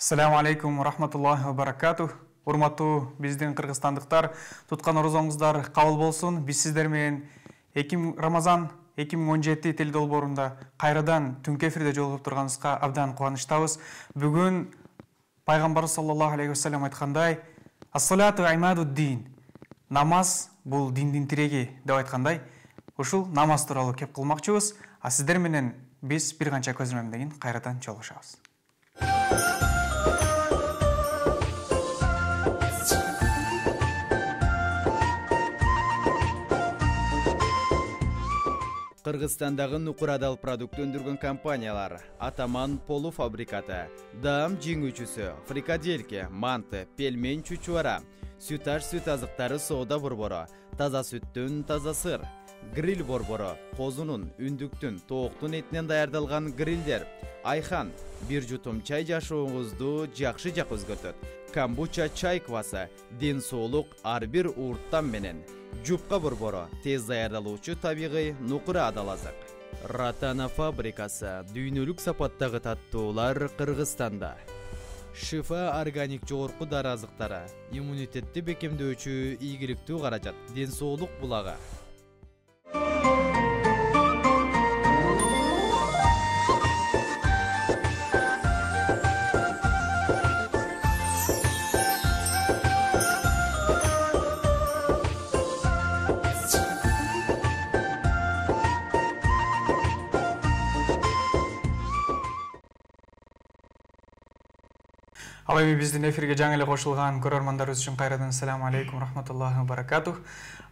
Ассаламу алейкум ва рахматуллахи ва баракатух. Урматтуу биздин кыргызстандыктар, туткан орозоңуздар кабыл болсун. Биз сиздер менен Рамазан 2017 тил долбоорунда кайрадан түнкү эфирде жолугуп турганыбызга абдан кубанычтабыз. Бүгүн пайгамбар саллаллаху алейхи вассалам айткандай, "Ас-салату имадуд-дин". Намаз бул диндин тиреги деп айткандай, ушул намаз тууралуу кеп кылмакчыбыз. А сиздер менен биз бир канча көзөмөлдөн кийин кайрадан жолугушабыз. Кыргызстандагы нукурадал продукт өндүргөн компаниялар: Атаман полуфабрикаты, Даам жеңүүчүсү, Фрикадельке, Манты, Пельмень чучуара, Сүташ сүт азыктары соода борбору, таза сүттүн таза сыр, гриль борбору, козунун, үндүктүн, тооктун этинен даярдалган грилдер, Айхан, бир жутум чай жашооңузду жакшы жак өзгөртөт. Камбуча чай квасы, ден соолук ар бир урттан менен. Жупка борбору, тез даярдалуучу табигый нукура адал азык. Ратана фабрикасы, дүйнөлүк сапаттагы таттуулар Кыргызстанда. Шифа органик жогорку дары азыктары, иммунитетти бекемдөөчү ийгиликтүү каражат, ден соолук булагы. Ал эми биздин эфирге жаңы эле кошулган көрөрмандарыбыз үчүн кайрадан ассаламу алейкум рахматуллахи ва баракатух.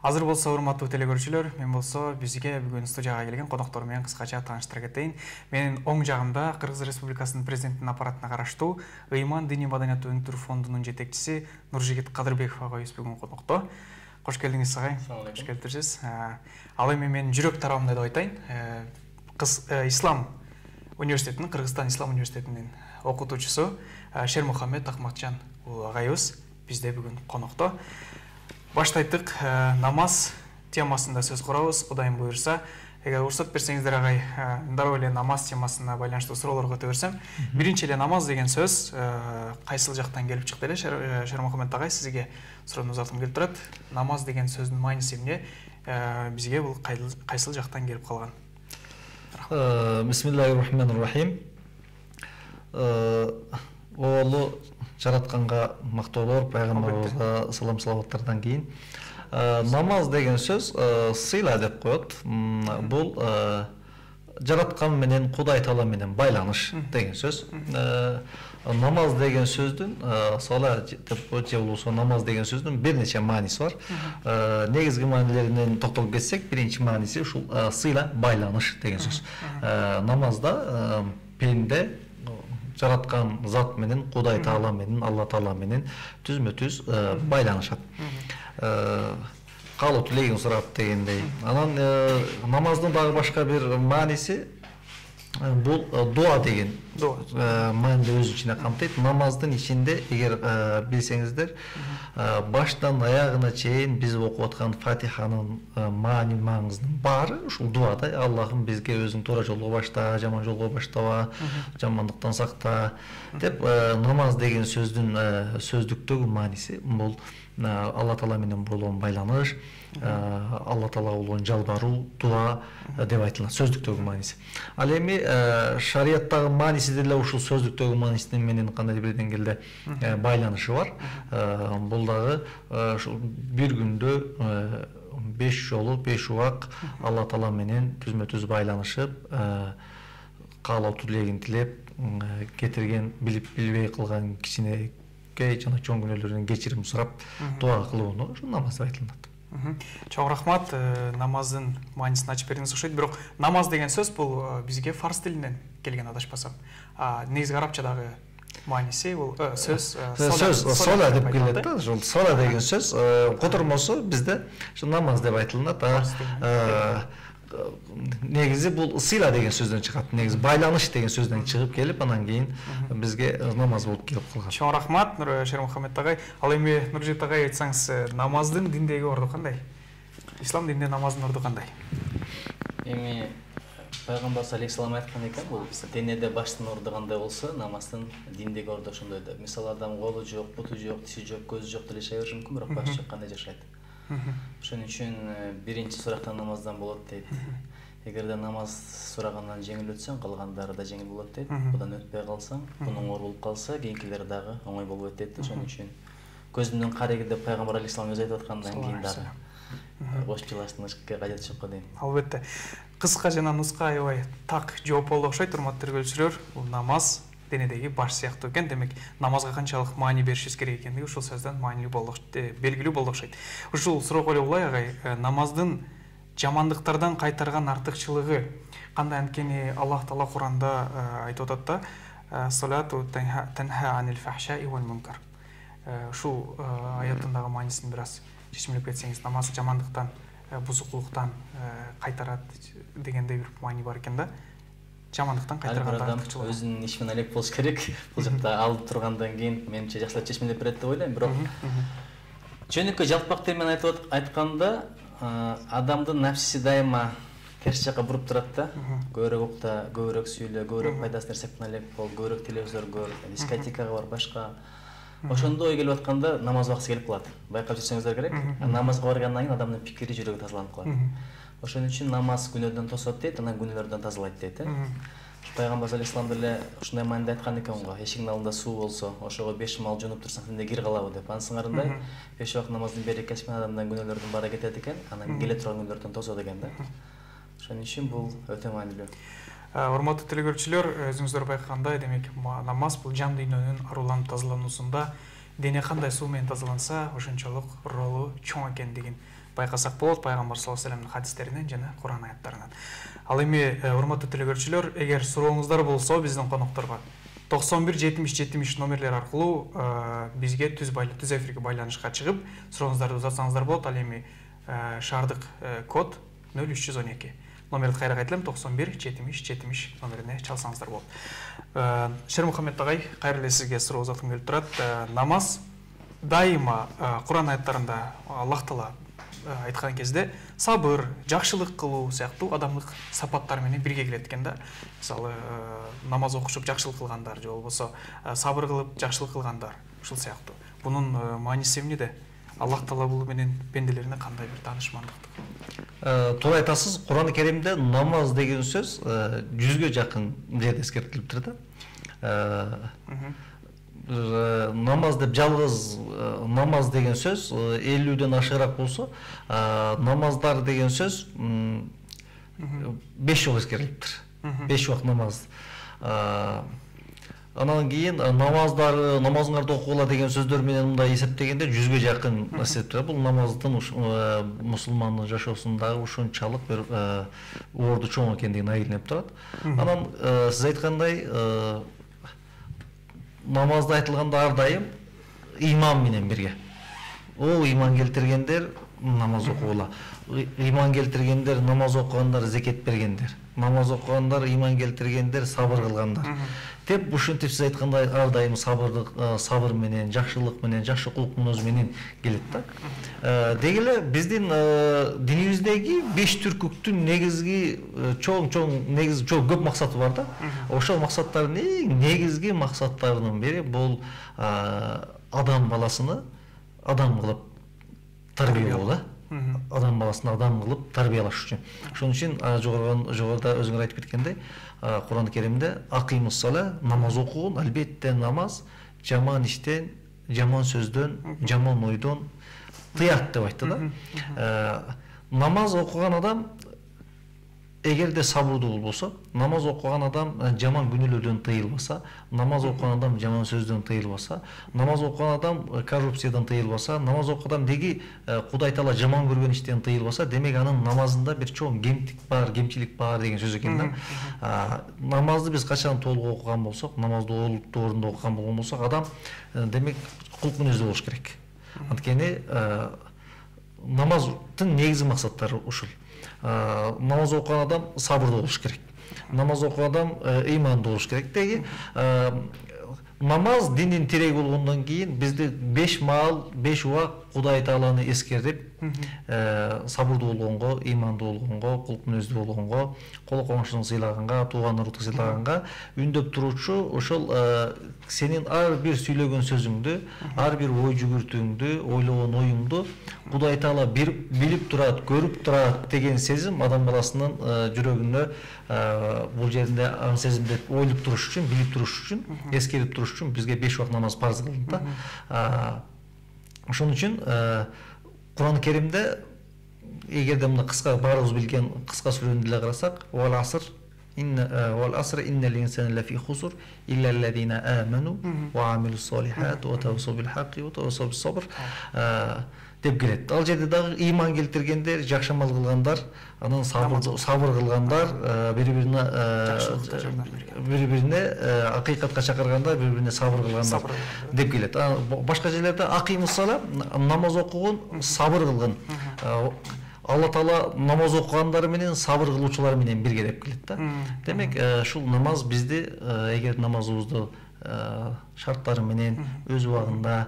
Азыр болсо урматтуу телекөрүүчүлөр, мен болсо бизге бүгүн студияга келген коноктор менен кыскача тааныштыра кетейин. Менин оң жагымда Кыргыз Республикасынын президентинин аппаратына караштуу Ыйман диний маданияттуу өнүктүрүү фондунун жетекчиси Нуржигит Кадырбеков агайыбыз бүгүн конокто. Кош келдиңиз агай. Кош келиптирсиз. Ал эми мен жүрөк тарабымда деп айтайын. Ислам университетинин, Кыргызстан Ислам университетинин окутуучусу Шермухаммед Ахматжан агайыбыз бизде бүгүн конокто. Баштайдык, намаз темасында сөз курабыз, Кудайым буйрса. Эгер уруксат берсеңиздер агай, дароо эле намаз темасына байланыштуу суроолорго өтө берсем. Биринчи эле намаз деген сөз кайсыл жактан келип чыкты эле? Шермухаммед агай, сизге суроону узаткым келип турат. Намаз деген сөздүн мааниси эмне? Бизге бул кайсыл жактан келип калган? Бисмиллахир-рахманир-рахим. Оолу жаратканга мактоолор, пайгамбарыбызга салам салаваттардан кийин намаз деген сөз сыйла деп коет. Бул жараткан менен, Кудай Таала менен байланыш деген сөз. Намаз деген сөздүн сала деп же болбосо намаз деген сөздүн бир нече мааниси бар. Негизги маанилеринен токтолуп кетсек, биринчи мааниси ушул сыйла байланыш деген сөз. Намазда пенде жараткан зат менен, Кудай Таала менен, Алла Таала менен түзмө-түз байланышат. Калуу тилегин сурап дегендей. Анан намаздын дагы башка бир мааниси бул дуа деген мааниде өз ичине камтыйт. Намаздын ичинде, эгер билсеңиздер, баштан аягына чейин биз окуп аткан Фатиханын маңызынын баары ушул дуада. Аллахым бизге өзүң туура жолго башта, жаман жолго баштаба, жамандыктан сакта деп намаз деген сөздүн сөздүктөгү мааниси бул Алла Таала менен болгон байланыш, Алла Таалага болгон жалбаруу, дуа деп айтылат, сөздүктөгү мааниси. Ал эми шарияттагы мааниси деле ушул сөздүктөгү маанисинин менен кандайдыр бир деңгээлде байланышы бар. Бул дагы ушул бир күндө 5 жолу, 5 убак Алла Таала менен түзмө-түз байланышып, каалоо тилегин тилеп, кетирген, билип билбей кылган кичине жана чоң күнөөлөрдөн кечирим сурап, дуа кылууну ушул намаз деп айтылат. Чоң рахмат, намаздын маанисин ачып бердиңиз окшойт. Бирок намаз деген сөз бул бизге фарс тилинен келген, адашпасам. Негизги арабчадагы мааниси бул сөз сола деп келет да. Ушул сола деген сөз котормосу бизде ушу намаз деп айтылат. Негизи бул сыйла деген сөздөн чыгат. Негизи байланыш деген сөздөн чыгып келип, анан кийин бизге намаз болуп келип калган. Чоң рахмат, Шермухаммед агай. Ал эми Нуржигит агай, айтсаңыз, намаздын диндеги орду кандай? Ислам дининде намаздын орду кандай? Эми Пайгамбар алейхиссалам айткан экен, бул денеде баштын орду кандай болсо, намаздын диндеги орду ошондой деп. Мисалы адам колу жок, буту жок, тиши жок, көзү жок деле жашай бериши мүмкүн, бирок башы жок кандай жашайт. Ошон үчүн биринчи сурактан намаздан болот дейт. Эгерде намаз сурагандан жеңил өтсөң, калгандары да жеңил болот дейт. Будан өтпөй калсаң, бунун оор болуп калса, кийинкилери дагы оңой болбойт дейт. Ошон үчүн көзүмдүн кареги деп Пайгамбар алейхиссалам өзү айтып аткандан кийин дагы кош жылаштырышка кажети жок го дейм. Албетте. Кыска жана нуска аябай так жооп болду окшойт, урматтуу көрүүчүлөр. Бул намаз денедеги баш сыяктуу экен. Демек, намазга канчалык маани беришибиз керек экендиги ушул сөздөн маанилүү болду, белгилүү болду окшойт. Ушул суроо эле улай агай, намаздын жамандыктардан кайтарган артыкчылыгы кандай? Анткени Аллах Таала Куранда айтып атат да, салату танха анил фахшаи вал мункар. Ушул аяттын дагы маанисин бир аз чечимдеп кетсеңиз, намаз жамандыктан, бузукулуктан кайтарат дегендей бир маани бар экен да. Жамандыктан кайтарган артыкчылыгы. Өзүнүн иши менен элек болуш керек. Бул жакта алып тургандан кийин менимче жакшылап чечимдеп берет деп ойлойм. Бирок жөнөкөй жалпак тил менен айтканда, адамдын напсиси дайыма терс жакка буруп турат да. Көбүрөөк укта, көбүрөөк сүйлө, көбүрөөк пайдасыз нерсени алып бол, көбүрөөк телевизор көр, дискотекага бар, башка. Ошондо ой келип атканда намаз убакыты келип калат. Байкап жүрсөңүздөр керек. Намазга баргандан кийин адамдын пикири, жүрөгү тазаланып калат. Ошон үчүн намаз күнөөдөн тосот дейт, анан күнөөлөрдөн тазалайт дейт. Пайгамбар алейхиссалам деле ушундай мааниде айткан экен го. Эшигиңдин алдында суу болсо, ошого 5 мал жунуп турсаң, сенде кир калабы деп. Анын сыңарындай 5 убакыт намаздын берекеси менен адамдын күнөөлөрдүн баары кетет экен, анан келе турган күнөөлөрдөн тосот экен да. Ошон үчүн бул өтө маанилүү. Урматтуу телекөрүүчүлөр, өзүңүздөр байкагандай, демек намаз бул жан дүйнөнүн аруланып тазалануусунда дене кандай суу менен тазаланса, ошончолук ролу чоң экендигин байкасак болот Пайгамбар саллаллаху алейхи вассаламдын хадистеринен жана Куран аяттарынан. Ал эми урматтуу телекөрүүчүлөр, эгер сурооңуздар болсо биздин конокторго 91 70 70 номерлер аркылуу бизге түз эфирге байланышка чыгып сурооңуздарды узатсаңыздар болот. Ал эми шаардык код 0312. Номерди кайра кайталайм, 91 70 70 номерине чалсаңыздар болот. Шер Мухаммед агай, кайра эле сизге суроо узаткым келип турат. Намаз дайыма Куран аяттарында Аллах Таала айткан кезде сабыр, жакшылык кылуу сыяктуу адамдык сапаттар менен бирге келет экен да. Мисалы, намаз окушуп жакшылык кылгандар же болбосо сабыр кылып жакшылык кылгандар, ушул сыяктуу. Бунун мааниси эмнеде? Аллах Таала бул менен пенделерине кандай бир таанышмандык? Туура айтасыз. Куран-ы Керимде намаз деген сөз 100гө жакын жерде эскертилиптир да. Намаз деп жалгыз намаз деген сөз 50ден ашыгыраак болсо, намаздар деген сөз 5 жолу эскерилиптир. 5 убакыт намаз. Анан кийин намазыңарды окугула деген сөздөр менен мындай эсептегенде 100гө жакын эсептелет. Бул намаздын мусулмандын жашоосундагы ушунчалык бир орду чоң экендигин айылынып турат. Анан сиз айткандай, намазда айтылганда ар дайым иман менен бирге. Ол иман келтиргендер намаз окугула. Иман келтиргендер, намаз окугандар, зекет бергендер. Намаз окугандар, иман келтиргендер, сабыр кылгандар. Деп ушинтип сиз айткандай ар дайым сабыр менен, жакшылык менен, жакшы кулук мүнөз менен келет да. Деги эле биздин динибиздеги 5 түркүктүн негизги чоң көп максаты бар да. Ошол максаттардын эң негизги максаттарынын бири бул адам баласыны адам кылып тарбиялоо да. Адам баласын адам кылып тарбиялаш үчүн. Ошон үчүн жогоруда өзүңөр айтып кеткендей, Куран-ы Керимде акимус сала, намаз окугун, албетте намаз жаман иштен, жаман сөздөн, жаман ойдон тыят деп айтты да. Намаз окуган адам эгерде сабырдуу болсо, намаз окуган адам жаман күнөөлөрдөн тыйылбаса, намаз окуган адам жаман сөздөн тыйылбаса, намаз окуган адам коррупциядан тыйылбаса, намаз окуган адам деги Кудай Таала жаман көргөн иштен тыйылбаса, демек анын намазында бир чоң кемчилик бар деген сөз экен да. Намазды биз качан толук окуган болсок, намазды орунду окуган болгон болсок, адам демек кулк мүнөздүү болуш керек. Анткени намаздын негизги максаттары ушул. Намаз окуган адам сабырдуу болуш керек. Намаз окуган адам ыймандуу болуш керек. Деги намаз диндин тиреги болгондон кийин бизде 5 маал, 5 убак Кудай Тааланы эскерип, сабырдуу болгонго, ыймандуу болгонго, кулк мүнөздүү болгонго, кол коңшуну сыйлаганга, тууган урукту сыйлаганга үндөп туручу ошол сенин ар бир сүйлөгөн сөзүңдү, ар бир ой жүгүртүүңдү, ойлогон оюңду Кудай Таала билип турат, көрүп турат деген сезим адам баласынын жүрөгүнө бул жеринде ан сезимди ойлоп туруш үчүн, билип туруш үчүн, эскерип туруш үчүн бизге 5 убак намаз парз кылынды да. Ошон үчүн Кур'ан Керимде эгерде мына кыска баарыбыз билген кыска сүрөнү деле карасак, вал аср иннал инсана лафи хусур илля аллазина аману ва амилус солихат ва тавассау бил хакки ва тавассау бис сабр деп келет. Ал жерде дагы ыйман келтиргендер, жакшы амал кылгандар, анан сабыр кылгандар, бири-бирине акыйкатка чакыргандар, бири-бирине сабыр кылгандар деп келет. Башка жерлерде акимус сала, намаз окугун, сабыр кылгын. Алла Таала намаз окугандар менен сабыр кылуучулар менен бирге деп келет да. Демек, ушул намаз бизди эгер намазыбызды шарттары менен өз убагында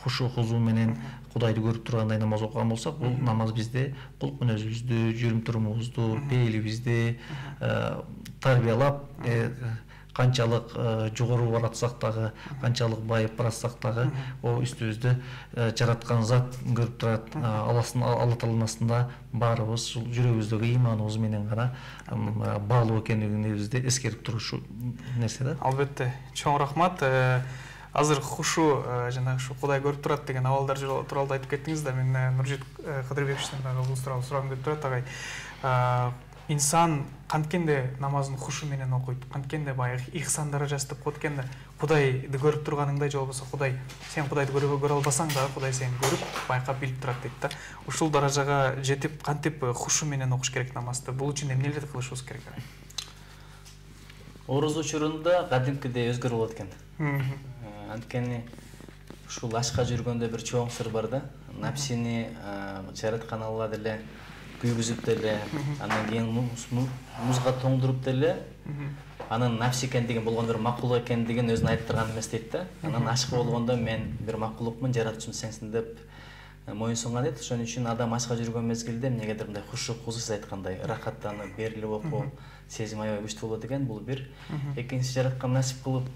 хушу хузу менен Кудайды көрүп тургандай намаз окуган болсок, бул намаз бизди кулк мүнөзүбүздү, жүрүм турумубузду, пейилибизди тарбиялап, канчалык жогору баратсак дагы, канчалык байып баратсак дагы, үстүбүздү жараткан зат көрүп турат. Алла Тааланын астында баарыбыз ушул жүрөгүбүздөгү ыйманыбыз менен гана баалуу экендигибизди эскерип турушу нерсе да. Албетте, чоң рахмат. Азыр хушу жана ушу Кудай көрүп турат деген абалдар тууралуу айтып кеттиңиз да. Мен Нуржит Кыдырбековичтен дагы бул тууралуу сурагым келип турат, агай. Инсан канткенде намазын хушу менен окуйт, канткенде баягы ихсан даражасы деп коет экен да. Кудайды көрүп турганыңдай же болбосо Кудай, сен Кудайды көрө албасаң да, Кудай сени көрүп, байкап билип турат дейт да. Ушул даражага жетип, кантип хушу менен окуш керек намазды? Бул үчүн эмнелерди кылышыбыз керек? Оруз учурунда кадимкидей өзгөрүп болот экен. Анткени ушул ашка жүргөндө бир чоң сыр бар да. Напсини жараткан Алла деле күйгүзүп деле, андан кийин музга тоңдуруп деле, анын напси экендигин болгон бир макулук экендигин өзүн айттырган эмес дейт да. Анан ашкы болгондо мен бир макулукмун, жаратуучум сенсиң деп моюн сунган дейт. Ошон үчүн адам ашка жүргөн мезгилде эмнегедир мындай хушу хузур айткандай рахаттанып, берилип окуп, сезим аябай күчтүү болот экен. Бул бир. Экинчиси, жараткан насип кылып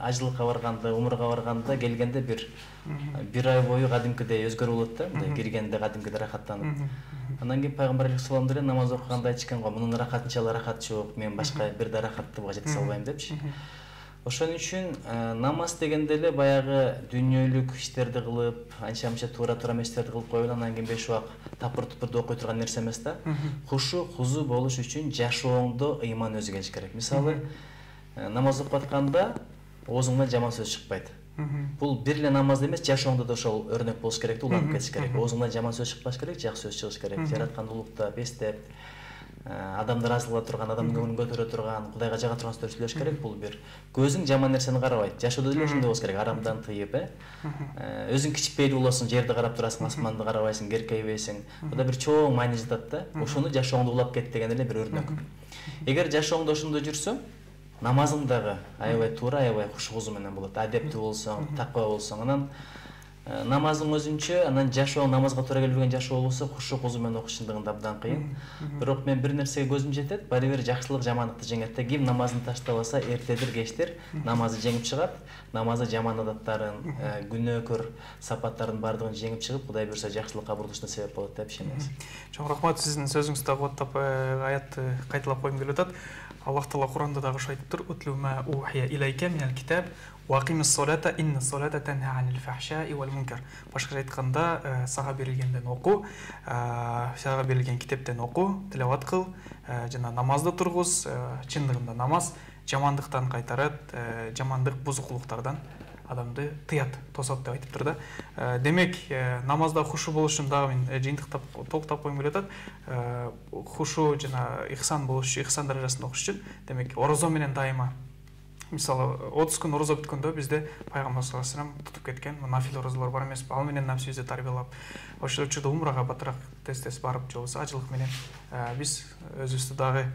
ажылыкка барганда, умурга барганда келгенде бир ай бою кадимкидей өзгөрүп болот да. Мындай киргенде кадимкидей рахаттанып. Андан кийин пайгамбар алейхиссалам деле намаз окуганда айтышкан го, мунун рахатынча рахат жок, мен башка бир да рахаттыга жете албайм депчи. Ошон үчүн намаз дегенде эле баягы дүйнөлүк иштерди кылып, анча-мынча туура эместерди кылып коюп, андан кийин 5 убак тапыр-тупурду окуй турган нерсе эмес да. Хушу, хузу болуш үчүн жашооңдо ыйман өзү келиш керек. Мисалы, намаз окуп атканда оозуңдан жаман сөз чыкпайт. Бул бир эле намазда эмес, жашооңдо да ошол өрнөк болуш керек да, уланып кетиш керек. Оозуңдан жаман сөз чыкпаш керек, жакшы сөз чыгыш керек. Жараткан улуктап, эстеп, адамды ыраазы кыла турган, адамдын көңүлүн көтөрө турган, Кудайга жага турган сөз сүйлөш керек. Бул бир. Көзүң жаман нерсени карабайт. Жашоодо деле ошондой болуш керек. Арамдан тыйып, өзүң кичипейли болосуң, жерди карап турасың, асманды карабайсың, керкейбейсиң. Буда бир чоң маани жатат да. Ошону жашооңдо улап кет деген эле бир өрнөк. Эгер жашооңдо ошондой жүрсөң, намазың дагы аябай туура, аябай хуш-хузу менен болот. Адептүү болсоң, таква болсоң, анан намазың өзүнчө, анан жашоо намазга туура келбеген жашоо болсо, хушу-хузу менен окуш чындыгында абдан кыйын. Бирок мен бир нерсеге көзүм жетет, баары бир жакшылык жамандыкты жеңет да. Ким намазын таштабаса, эртедир кечтир намазы жеңип чыгат. Намазы жаман адаттарын, күнөөкөр сапаттардын баардыгын жеңип чыгып, Кудай буйрса жакшылыкка бурулушуна себеп болот деп ишенебиз. Чоң рахмат, сиздин сөзүңүздү кубаттап аятты кайталап койгум келип атат. Аллах Таала Куранда дагы ошо айтып тур: "Утлу ма ухия илайка минал китаб ва акимис салата инна салата танха анил фахшаи вал мункар." Башкача айтканда, сага берилгенден оку, сага берилген китептен оку, тилават кыл, жана намазды тургуз. Чындыгында намаз жамандыктан кайтарат, жамандык бузукулуктардан адамды тыят, тосот деп айтып тур да. Демек, намазда хушу болуш үчүн дагы мен жыйынтыктап толуктап койгум келип атат. Хушу жана ихсан болуш, ихсан даражасында окуш үчүн, демек, орозо менен дайыма мисалы 30 күн орозо бүткөндө бизде пайгамбар саллаллаху алейхи вассалам тутуп кеткен нафил орозолор бар эмеспи, ал менен напсибизди тарбиялап ошол учурда умрага батыраак тез барып же болбосо ажылык менен биз өзүбүздү дагы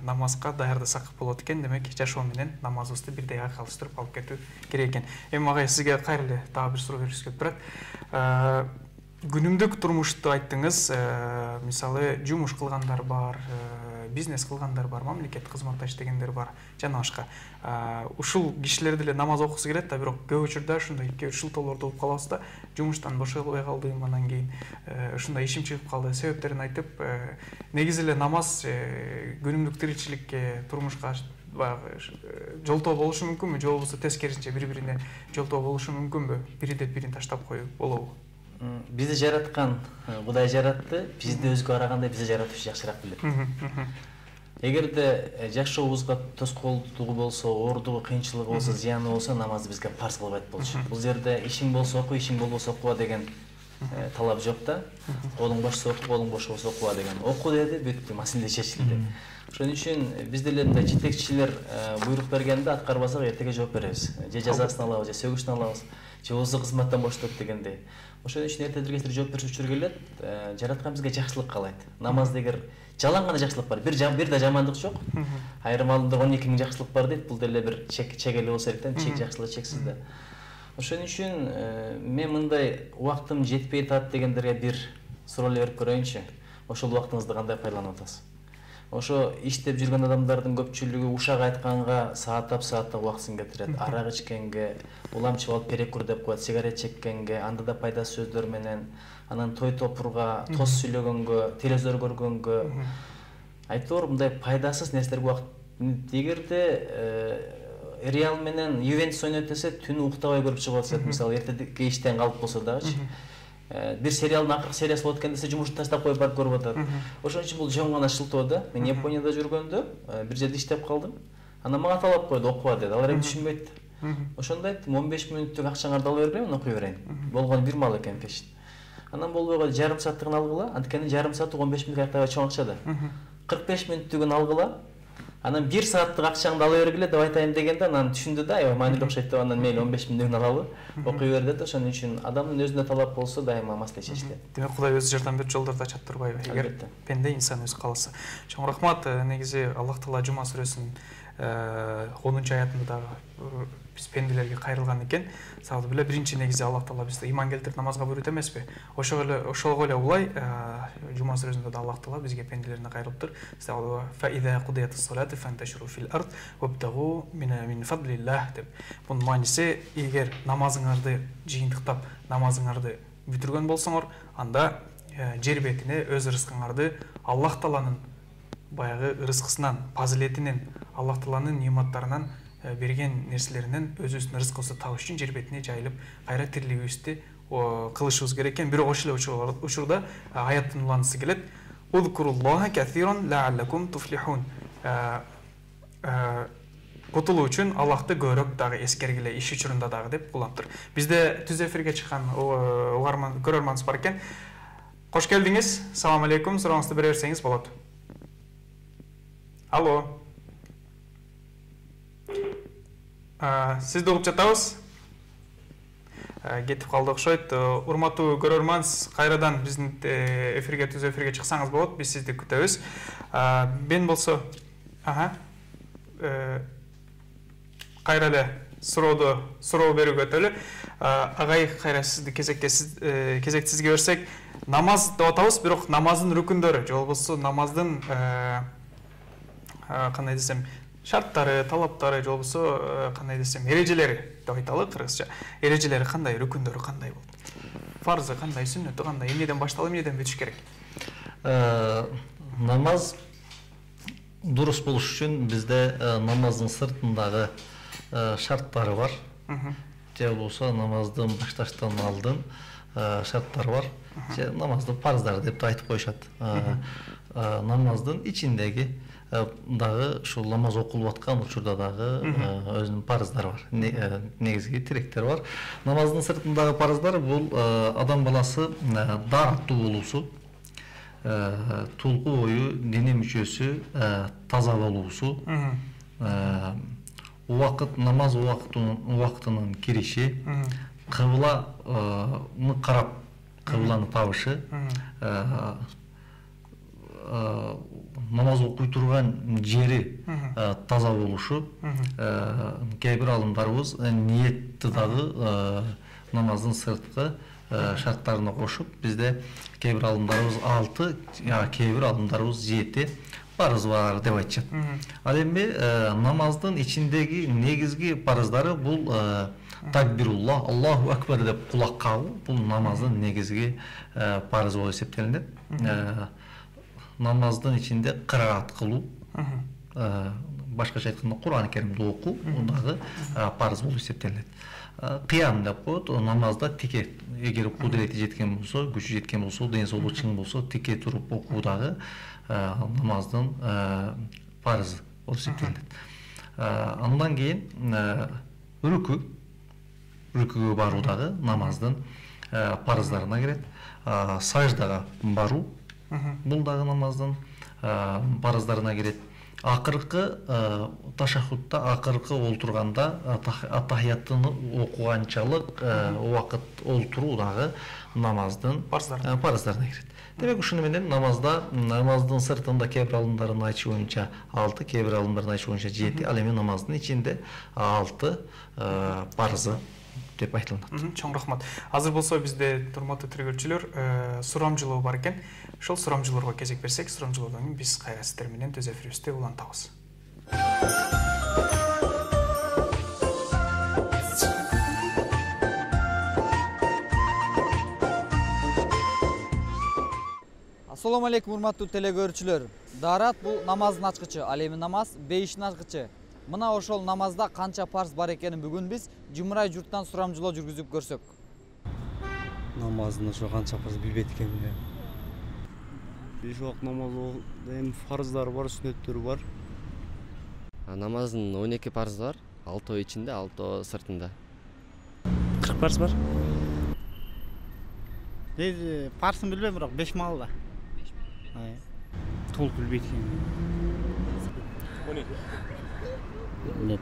намазга даярдасак болот экен. Демек жашоо менен намазыбызды бирдей айкалыштырып алып кетүү керек экен. Эми агай сизге кайра эле дагы бир суроо беришке келип турат. Күнүмдүк турмушту айттыңыз, мисалы жумуш кылгандар бар, бизнес кылгандар бар, мамлекеттик кызматта иштегендер бар, жана башка. Ушул кишилер деле намаз окугусу келет да, бирок көп учурда ушундай 2-3 шылтоолорду угуп калабыз да, жумуштан бошобой калдым, анан кийин ушундай ишим чыгып калды, себептерин айтып, негизи эле намаз күнүмдүк тиричиликке, турмушка баягы жолтоо болушу мүмкүнбү, же болбосо тескерисинче бири-бирине жолтоо болушу мүмкүнбү? Бири деп бирин таштап коюу болобу? Бизди жараткан Кудай жаратты, бизди өзгө караганда бизди жаратуушу жакшыраак билет. Эгерде жашообузга тоскоолдугу болсо, оордугу, кыйынчылыгы болсо, зыяны болсо, намазды бизге парз кылбайт болчу. Бул жерде ишиң болсо оку, ишиң болбосо окуба деген талап жок да. Колуң бошсо оку, колуң бош болсо окуба деген. Оку деди, бүттү, маселе чечилди. Ошон үчүн биз деле мындай жетекчилер буйрук бергенде аткарбасак эртеге жооп беребиз. Же жазасын алабыз, же сөгүшүн алабыз, же болбосо кызматтан боштот дегендей. Ошон үчүн эртеден кечке жооп бериш учуру келет. Жараткан бизге жакшылык каалайт. Намазда эгер жалаң гана жакшылык бар, бир да жамандык жок. Айрым алдында 12 000 жакшылык бар дейт. Бул деле бир чек эле болсо керек да, чек жакшылык чексиз да. Ошон үчүн мен мындай убактым жетпей атат дегендерге бир суроо эле берип көрөйүнчү. Ошол убактыңызды кандай пайдаланып атасыз? Ошо иштеп жүргөн адамдардын көпчүлүгү ушак айтканга сааттап убактысын кетирет. Арак ичкенге, уламчып алып перекур деп коет, сигарет чеккенге, анда да пайдасыз сөздөр менен, анан той топурга, тос сүйлөгөнгө, телевизор көргөнгө, айтор мындай пайдасыз нерселерге убакыт. Эгерде Реал менен Ювентус ойнойт десе, түнү уктабай көрүп чыгып атышат. Мисалы эртеге иштен калып болсо дагычы. Бир сериалдын акыркы сериясы болот экен десе, жумушту таштап коюп барып көрүп атат. Ошон үчүн бул жөн гана шылтоо да. Мен Японияда жүргөндө бир жерде иштеп калдым. Анан мага талап койду, окуба деди. Алар эми түшүнбөйт. Ошондо айттым, 15 мүнөттүк акчаңарды алып бербейм, окуй берейин. Болгону 1 мал экен пеш. Анан болбой койду, жарым сааттыгын алгыла. Анткени жарым сааттык 15 мүнөттүк аябай чоң акча да. 45 мүнөттүгүн алгыла. Анан 1 сааттык акчаңды ала бергиле деп айтайын дегенде, анан түшүндү да, аябай маанилүү окшойт деп, анан мейли 15 мүнөттүгүн алалы, окуй бер деди. Ошон үчүн адамдын өзүнө талап болсо, дайыма маселе чечилет. Демек Кудай өзү жардам берип жолдорду ачат турбайбы? Эгер пенде инсан өзү кааласа. Чоң рахмат. Негизи Аллах Таала Жума сүрөсүнүн 10-аятында дагы биз пенделерге кайрылган экен. Сабы биле биринчи негизи Аллах Таала бизди иман келтирип намазга буйрут эмеспи? Ошого эле улай Жума сүрөсүндө да Аллах Таала бизге пенделерине кайрылыптыр. Фа иза кудиятус салату фанташиру фил ард вабтагу мин фадлиллах деп. Бунун мааниси, эгер намазыңарды жыйынтыктап, намазыңарды бүтүргөн болсоңор, анда жер бетине өз рызкыңарды Аллах Тааланын баягы рызкысынан, фазилетинен, Аллах Тааланын нематтарынан берген нерселеринен өзүбүздүн рызкыбызды табыш үчүн жер бетине жайылып, кайра тирилигибизди кылышыбыз керек экен. Бирок ошол эле учурда аяттын уланысы келет. Узкуруллаха касиран лааллакум туфлихун. Кутулуу үчүн Аллахты көбүрөөк дагы эскергиле, иш учурунда дагы деп уланттыр. Бизде түз эфирге чыккан көрөрманыбыз бар экен. Кош келдиңиз. Салам алейкум. Сурооңузду бере берсеңиз болот. Алло. Сизди угуп жатабыз. Кетип калды окшойт. Урматтуу көрөрманс, кайрадан биздин эфирге, түз эфирге чыксаңыз болот. Биз сизди күтөбүз. Мен болсо, кайра эле суроо берүүгө өтөлү. Агай, кайра сизди кезекти сизге берсек, намаз деп атабыз, бирок намаздын рүкүндөрү, же болбосо намаздын кандай десем, шарттары, талаптары, же болбосо кандай десем, эрежелери деп айталы кыргызча. Эрежелери кандай, рүкүндөрү кандай болот? Фарзы кандай, сүннөтү кандай, эмнеден башталып, эмнеден бүтүш керек? Намаз дурус болуш үчүн бизде намаздын сыртындагы шарттары бар. Же болбосо намаздын башташтан алдын шарттары бар. Же намаздын парыздары деп айтып коюшат. Намаздын ичиндеги дагы ушул намаз окулуп аткан учурда дагы өзүнүн парыздары бар. Негизги тиректер бар. Намаздын сыртындагы парыздар бул адам баласы дааттуу болуусу, тулку бою дене мүчөсү таза болуусу, намаз убактынын кириши, кыбланы карап кыбланы табышы, намаз окуй турган жери таза болушу, кээ бир алымдарыбыз ниетти дагы намаздын сырткы шарттарына кошуп, бизде кээ бир алымдарыбыз 6, кээ бир алымдарыбыз 7 парыз бар деп айтышат. Ал эми намаздын ичиндеги негизги парыздары бул такбируллах, Аллаху акбар деп кулак кагуу, бул намаздын негизги парыз болуп эсептелинет. Намаздын ичинде кыраат кылуу, башкача айтканда Кур'ан Керимди окуу, дагы парыз болуп эсептелинет. Кыям деп коет, намазда тике, эгер кудурети жеткен болсо, күчү жеткен болсо, ден соолугу чың болсо, тике туруп окуу дагы намаздын парызы болуп эсептелинет. Андан кийин рүкүгө баруу дагы намаздын парыздарына кирет. Саждага баруу, бул дагы намаздын парыздарына кирет. Акыркы ташаххудта, акыркы олтурганда атахияттыны окуганчалык убакыт олтуруу дагы намаздын парыздарына кирет. Демек ушуну менен намаздын сыртында кээ бир алымдардын айтышы боюнча 6, кээ бир алымдардын айтышы боюнча 7, ал эми намаздын ичинде 6 парызы деп айтылат. Чоң рахмат. Азыр болсо бизде урматтуу тергөөчүлөр сурамжылоо бар экен. Ошол сурамжылоорго кезек берсек, сурамжылоодон кийин биз кайра сиздер менен түз эфирибизде улантабыз. Assalamu alaikum урматтуу телекөрүүчүлөр. Дарат бул намаздын ачкычы, ал эми намаз бейиштин ачкычы. Мына ошол намазда канча парз бар экенин бүгүн биз Жумурай журттан сурамжылоо жүргүзүп көрсөк. Намаздын ошо канча парз билбейт экенмин. 5 убакыт намаз эми фарздары бар, сүннөттөрү бар. Намаздын 12 парзы бар, 6 ичинде, 6 сыртында. 40 парз бар. Парсын билбейм, бирок 5 маалда. Толук билбейт экенмин.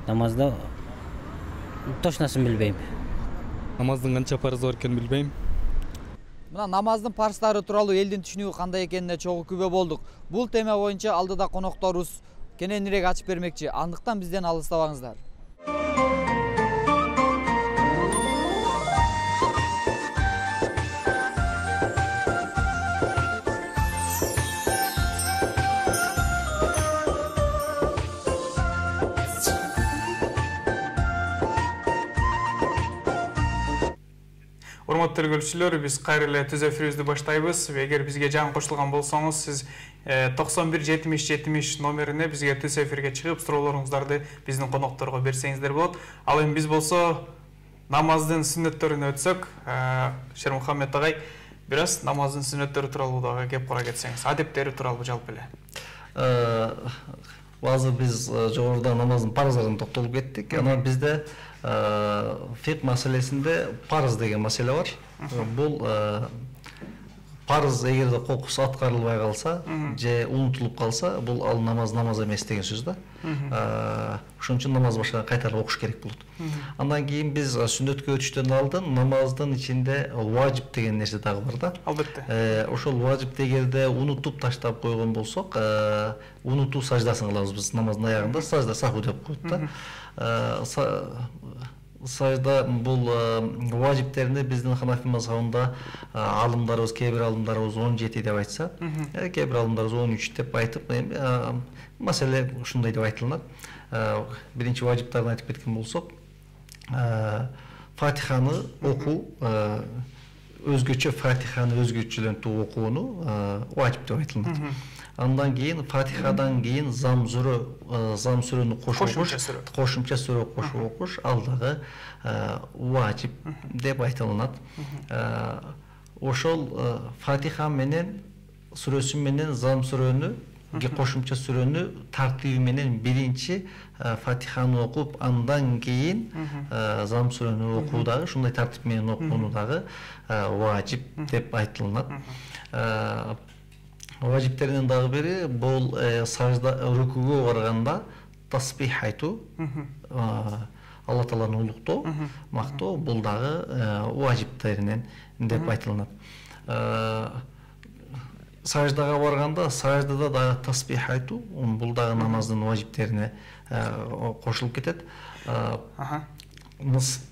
Намазда точносын билбейм. Намаздын канча парызы бар экенин билбейм. Мына намаздын парыздары тууралуу элдин түшүнүгү кандай экенине чогуу күбө болдук. Бул тема боюнча алдыда конокторубуз кененирээк ачып бермекчи. Андыктан бизден алыстабаңыздар. Урматтуу тергөөчүлөр, биз кайра эле түз эфирибизди баштайбыз. Эгер бизге жаңы кошулган болсоңуз, сиз 91-70-70 номерине бизге түз эфирге чыгып, суроолоруңуздарды биздин конокторго берсеңиздер болот. Ал эми биз болсо намаздын сүннөттөрүнө өтсөк, Шермухаммед агай, бир аз намаздын сүннөттөрү тууралуу дагы кеп кора кетсеңиз, адептери тууралуу жалпы эле. Азыр биз жогоруда намаздын парыздарына токтолуп кеттик. Анан бизде фик маселесинде парыз деген маселе бар. Бул парыз эгерде кокусу аткарылбай калса же унутулуп калса, бул ал намаз эмес деген сөз да. Ошон үчүн намаз башка кайтарып окуш керек болот. Андан кийин биз сүннөткө өтүштөн алдын намаздын ичинде важип деген нерсе дагы бар да. Албетте. Ошол важипти эгерде унутуп таштап койгон болсок, унутуу саждасын кылабыз биз намаздын аягында, сажда саху деп коет да. Сажда бул важиптерини биздин Ханафи мазхабында алымдарыбыз, кээ бир алымдарыбыз 17 деп айтса, кээ бир алымдарыбыз 13 деп айтып, маселе ушундай деп айтылат. Биринчи важиптарын айтып кеткен болсок, Фатиханы окуу, өзгөчө Фатиханы өзгөчөлөнтүп окууну важип деп айтылат. Андан кийин Фатихадан кийин зам сүрөнү кошумча сүрө кошуп окуш, ал дагы важип деп айтылат. Ошол Фатиха менен сүрөсү менен зам сүрөнү, кошумча сүрөнү тартиби менен биринчи Фатиханы окуп, андан кийин зам сүрөнү окуу дагы, ушундай тартип менен окууну дагы важип деп айтылат. Важиптеринин дагы бири бул сажда рукуга барганда таспих айтуу, Алла Тааланы улуктоо, мактоо бул дагы важиптеринен деп айтылат. Саждага барганда, саждада дагы таспих айтуу, бул дагы намаздын важиптерине кошулуп кетет.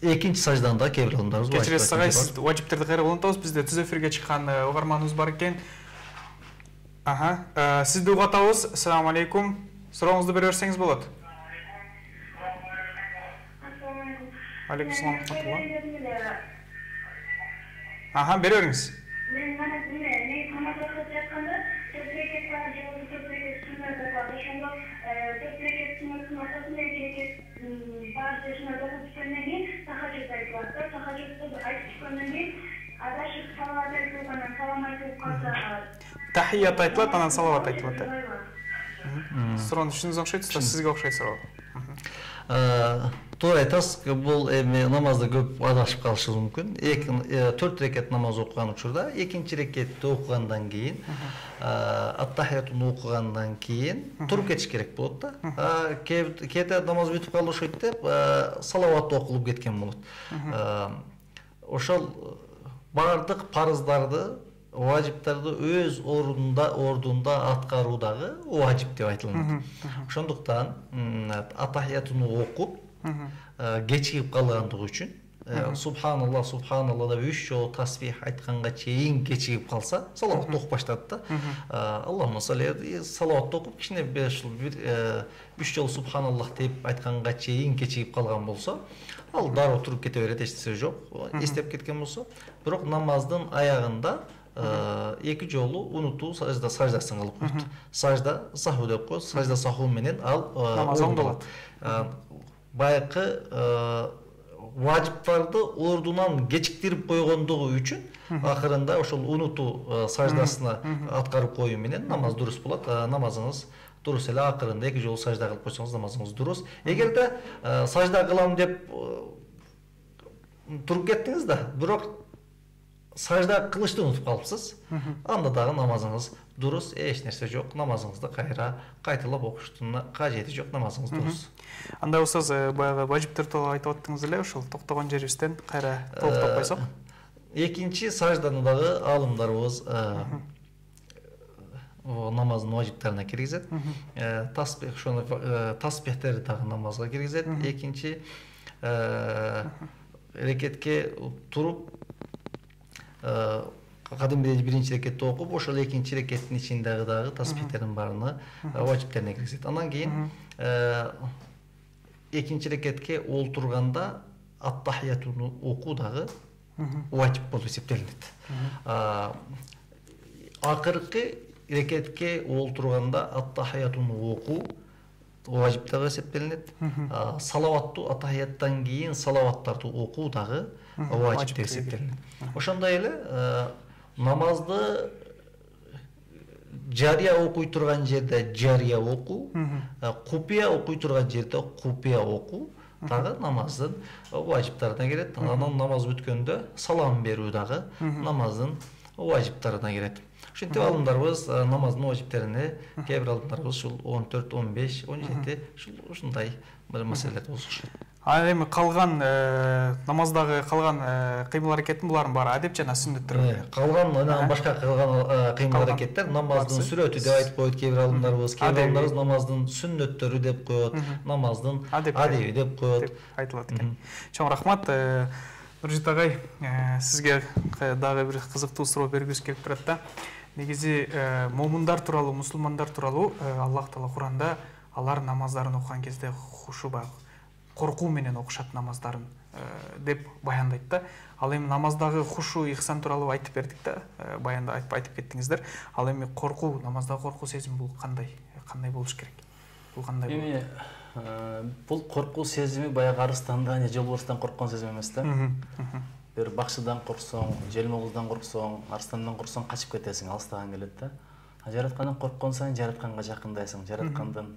Экинчи сажданда кээ бир адамдарыбыз кечиресиз агай, сиз важиптерди кайра улантабыз. Бизде түз эфирге чыккан угарманыбыз бар экен. Сизди угуп атабыз. Ассаламу алейкум. Сурооңузду бере берсеңиз болот. Алейкум салам. Бере бериңиз. Тахият айтылат, анан салават айтылат. Суроону түшүндүңүз окшойт, сизге окшойт суроо. Туура айтасыз, бул эми намазда көп адашып калышыбыз мүмкүн. 4 рекет намаз окуган учурда, экинчи рекетти окугандан кийин, ат-тахиятун окугандан кийин туруп кетиш керек болот да. Кээде намаз бүтүп калды окшойт деп, салават окулуп кеткен болот. Ошол бардык парыздарды, важиптарды өз ордунда аткаруу дагы важип деп айтылат. Ошондуктан ат-тахиятуну окуп, кечигип калгандыгы үчүн субханалла, субханалла деп 3 жолу тасбих айтканга чейин кечигип калса, салават окуп баштат да. Аллахумма салли, салават окуп, кичине 3 жолу субханаллах деп айтканга чейин кечигип калган болсо, ал дароо туруп кете берет, эч нерсе жок. Эстеп кеткен болсо, бирок намаздын аягында 2 жолу унутуу саждасын кылып коет. Сажда саху деп коет, сажда саху менен ал намаз оңдолот. Байкы важиптарды ордунан кечиктирип койгондугу үчүн акырында ошол унутуу саждасына аткарып коюу менен намаз дурус болот. Намазыңыз дурус эле, акырында 2 жолу сажда кылып койсоңуз намазыңыз дурус. Эгерде сажда кылам деп туруп кеттиңиз да, бирок сажда кылышты унутуп калыпсыз, анда дагы намазыңыз дурус, эч нерсе жок, намазыңызды кайра кайталап окуштун кажети жок, намазыңыз дурус. Анда устаз, баягы важиптер тууралуу айтып аттыңыз эле, ошол токтогон жерибизден кайра толуктап койсок. Экинчи сажданы дагы алымдарыбыз намаздын важиптерине киргизет. Таспих, ошону таспихтерди дагы намазга киргизет. Экинчи рекетке туруп, кадимдей биринчи рекетти окуп, ошол экинчи рекеттин ичиндеги дагы таспихтердин баарына важиптерине киргизет. Андан кийин экинчи рекетке олтурганда ат-тахиятуну окуу дагы важип болуп эсептелинет. Акыркы рекетке олтурганда ат-тахиятуну окуу важип дагы эсептелинет. Салаваттуу ат-тахияттан кийин салаваттарды окуу дагы важип деп эсептелинет. Ошондой эле намазды жария окуй турган жерде жария окуу, купия окуй турган жерде купия окуу дагы намаздын важиптарына кирет. Анан намаз бүткөндө салам берүү дагы намаздын важиптарына кирет. Ошентип алымдарыбыз намаздын важиптерине, кээ бир алымдарыбыз ушул 14, 15, 17 ушундай бир маселелер болушат. Эми калган намаздагы калган кыймыл аракеттин булардын баары адеп жана сүннөттөр. Калган башка кылган кыймыл аракеттер намаздын сүрөтү деп айтып коет кээ бир алымдарыбыз, кээ бир алымдарыбыз намаздын сүннөттөрү деп коет, намаздын адеби деп коет, айтылат экен. Чоң рахмат. Нуржит агай, сизге дагы бир кызыктуу суроо бергүбүз келип турат да. Негизи момундар тууралуу, мусулмандар тууралуу Аллах Таала Куранда алар намаздарын окуган кезде хушу баг, коркуу менен окушат намаздарын деп баяндайт да. Ал эми намаздагы хушу, ихсан тууралуу айтып бердик да, баянда айтып кеттиңиздер. Ал эми коркуу, намаздагы коркуу сезими бул кандай болуш керек? Бул кандай болот? Эми бул коркуу сезими баягы арыстандан же жолборстан корккон сезим эмес да. Бир бакчыдан корксоң, желмогуздан корксоң, арстандан корксоң качып кетесиң, алыстаган келет да. Жараткандан корккон сайын жаратканга жакындайсың, жараткандын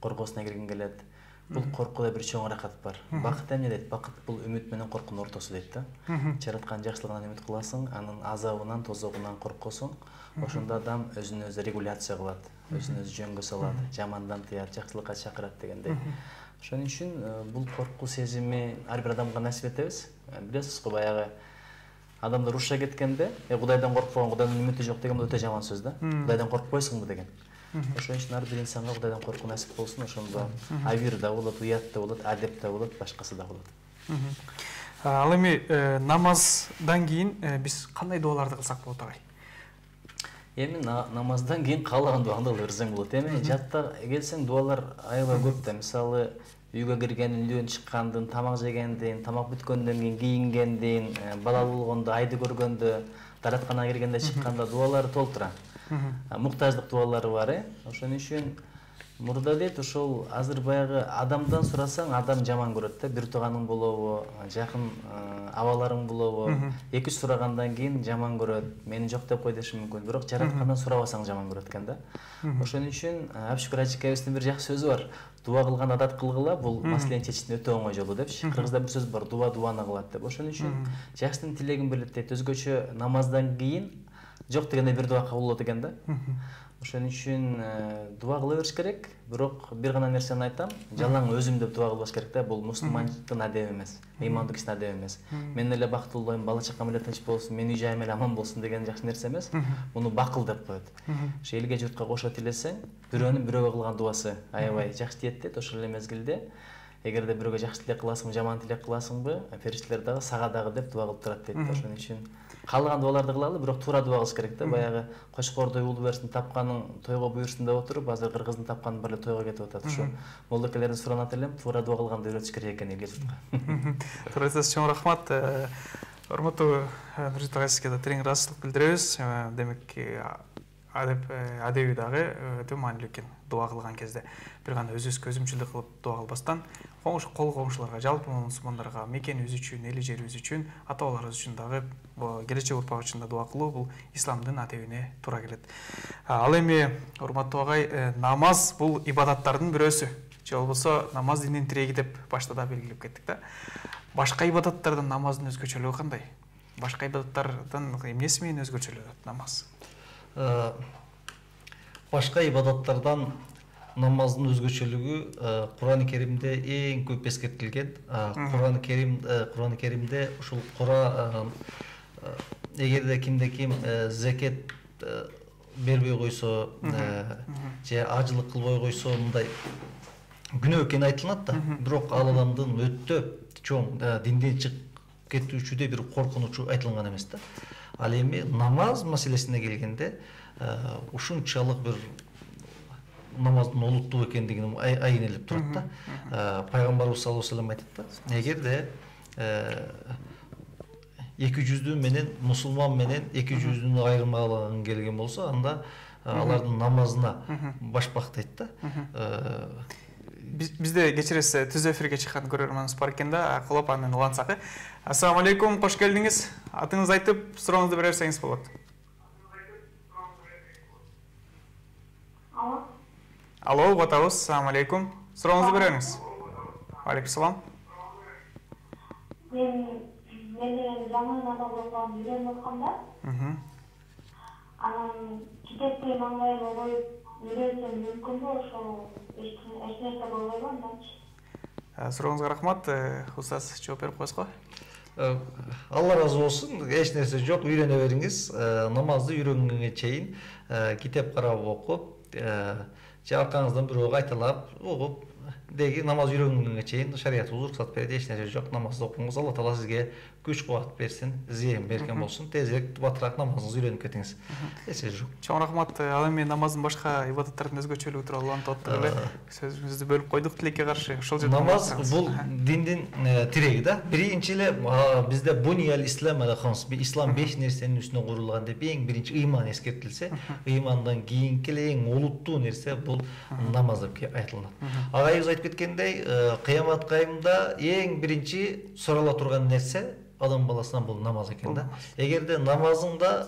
коргоосуна киргиң келет. Бул коркууда бир чоң рахат бар. Бакыт эмне дейт? Бакыт бул үмүт менен коркуунун ортосу дейт да. Жараткан жакшылыгынан үмүт кыласың, анын азабынан, тозогунан коркосуң. Ошондо адам өзүн өзү регуляция кылат. өзүн өзү жөнгө салат, жамандан тыят, жакшылыкка чакырат дегендей. Ошон үчүн бул коркуу сезими ар бир адамга насип этебиз. Билесиз го, баягы адамдар уруша кеткенде, Кудайдан коркпогон Кудайдын үмүтү жок деген бул өтө жаман сөз да. Кудайдан коркпойсуңбу деген. Ошон үчүн ар бир инсанга Кудайдан коркуу насип болсун. Ошондо авир да болот, уят да болот, адеп да болот, башкасы да болот. Ал эми намаздан кийин биз кандай дуаларды кылсак болот агай? Эми намаздан кийин каалаган дуаңды кыла берсең болот. Эми жатта келсең дуалар аябай көп да. Мисалы, үйгө киргенден, үйлдөн чыккандын, тамак жегенден, тамак бүткөндөн кийин кийингенден, балалуу болгондо, айды көргөндө, дааратканага киргенде, чыкканда дуалары толтура. Муктаждык дуалары бар, Ошон үчүн мурда дейт, ошол азыр баягы адамдан сурасаң, адам жаман көрөт да. Бир тууганың болобу, жакын абаларың болобу, 2-3 сурагандан кийин жаман көрөт. Мени жок деп кой деши мүмкүн. Бирок жараткандан сурабасаң жаман көрөт экен да. Ошон үчүн Абшүкүр Ажыкебиздин бир жакшы сөзү бар. Дуа кылган адат кылгыла, бул маселени чечиштин өтө оңой жолу депчи. Кыргызда бир сөз бар, дуа дуаны кылат деп. Ошон үчүн жакшынын тилегин билет дейт. Өзгөчө намаздан кийин жок дегенде бир дуа кабыл болот экен да. Ошон үчүн дуа кыла бериш керек. Бирок бир гана нерсени айтам, жалаң өзүм деп дуа кылбаш керек да. Бул мусулмандыктын адеби эмес, ыймандуу кишинин адеби эмес. Мен эле бактылуу болоюн, бала чакам эле тынч болсун, менин үй жайым эле аман болсун деген жакшы нерсе эмес. Муну бакыл деп коет. Ошо элге журтка кошо тилесең, бирөөнүн бирөөгө кылган дуасы аябай жакшы тиет дейт. Ошол эле мезгилде эгерде бирөөгө жакшы тилек кыласыңбы, жаман тилек кыласыңбы, периштелер дагы сага дагы деп дуа кылып турат дейт. Ошон үчүн каалаган дуаларды кылалы, бирок туура дуа кылыш керек да. Баягы кочкордой уулу берсин, тапканың тойго буйрсун деп отуруп, азыр кыргыздын тапканы бар эле тойго кетип атат. Ошо молдокелерден суранат элем, туура дуа кылганды үйрөтүш керек экен элге журтка. Туура айтасыз, чоң рахмат. Урматтуу Нуржит агай, сизге да терең ыраазычылык билдиребиз. Демек, адеби дагы өтө маанилүү экен. Дуа кылган кезде бир гана өзүбүзгө өзүмчүлдүк кылып дуа кылбастан, кол коңшуларга, жалпы мусулмандарга, мекенибиз үчүн, эли жерибиз үчүн, ата-бабаларыбыз үчүн дагы, келечек урпак үчүн да дуа кылуу бул исламдын адебине туура келет. Ал эми, урматтуу агай, намаз бул ибадаттардын бирөөсү. Же болбосо намаз диндин тиреги деп башта да белгилеп кеттик да. Башка ибадаттардан намаздын өзгөчөлүгү кандай? Башка ибадаттардан эмнеси менен өзгөчөлөнөт намаз? Башка ибадаттардан намаздын өзгөчөлүгү Кур'ан-ы Керимде эң көп эскертилген. Кур'ан-ы Керимде ушул эгерде кимде ким закет бербей койсо, же ажылык кылбой койсо, мындай күнөө экени айтылат да. Бирок ал адамдын өтө чоң динден чыгып кетүүчүдө бир коркунучу айтылган эмес да. Ал эми намаз маселесине келгенде ушунчалык бир намаздын олуттуу экендигин айнелеп турат да. Пайгамбарыбыз саллаллаху алейхи ва саллям айтат да, эгерде 200 менен мусулман менен 200 айырмалаган келген болсо, анда алардын намазына башпак дейт да. Бизде кечиресиз, түз эфирге чыккан көрөрманыбыз бар экен да, кылып анын улансак. Ассаламу алейкум, кош келдиңиз. Атыңызды айтып, сурооңузду бере берсеңиз болот. Алло, угатабыз. Ассаламу алейкум. Сурооңузду бере бериңиз. Алейкум салам. Мен жаңы намаз окуган үйрөнүп атканда, анан китепти маңдайыма коюп үйрөнсөм мүмкүнбү? Ошол эч нерсе болбойбу анданчы? Сурооңузга рахмат. Устаз жооп берип коесузго. Алла разы болсун. Эч нерсе жок, үйрөнө бериңиз. Намазды үйрөнгөнгө чейин китеп карап окуп, же аркаңыздан бирөөгө айталап угуп, деги намаз үйрөнгөнгө чейин шариятыбыз уруксат берет. Эч нерсе жок, намазды окуңуз. Алла таала сизге күч кубат берсин, зыян берген болсун. Тезирээк батыраак намазыңызды үйрөнүп кетиңиз. Эч нерсе жок. Чоң рахмат. Ал эми намаздын башка ибадаттардын өзгөчөлүгү тууралуу улантып аттык эле. Сөзүңүздү бөлүп койдук тилекке каршы. Ошол жерде намаз бул диндин тиреги да. Биринчи эле бизде бунияль ислам аля хамс, ислам 5 нерсенин үстүнө курулган деп эң биринчи ыйман эскертилсе, ыймандан кийинки эле эң олуттуу нерсе бул намаз деп айтылат. Агайыбыз айтып кеткендей, кыямат кайымда эң биринчи сурала турган нерсе адам баласынан бул намаз экен да. Эгерде намазыңда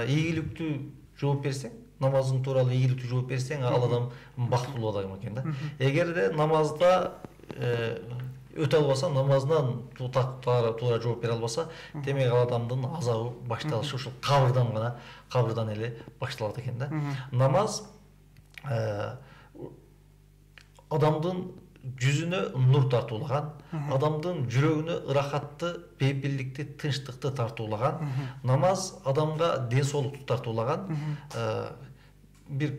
ийгиликтүү жооп берсең, намазың тууралуу ийгиликтүү жооп берсең, ал адам бактылуу адам экен да. Эгерде намазда өтө албаса, намазынан туура жооп бере албаса, демек ал адамдын азабы башталышы ушул кабырдан эле башталат экен да. Намаз адамдын жүзүнө нур тартуулаган, адамдын жүрөгүнө ырахатты, бейпилдикти, тынчтыкты тартуулаган, намаз адамга ден соолукту тартуулаган, бир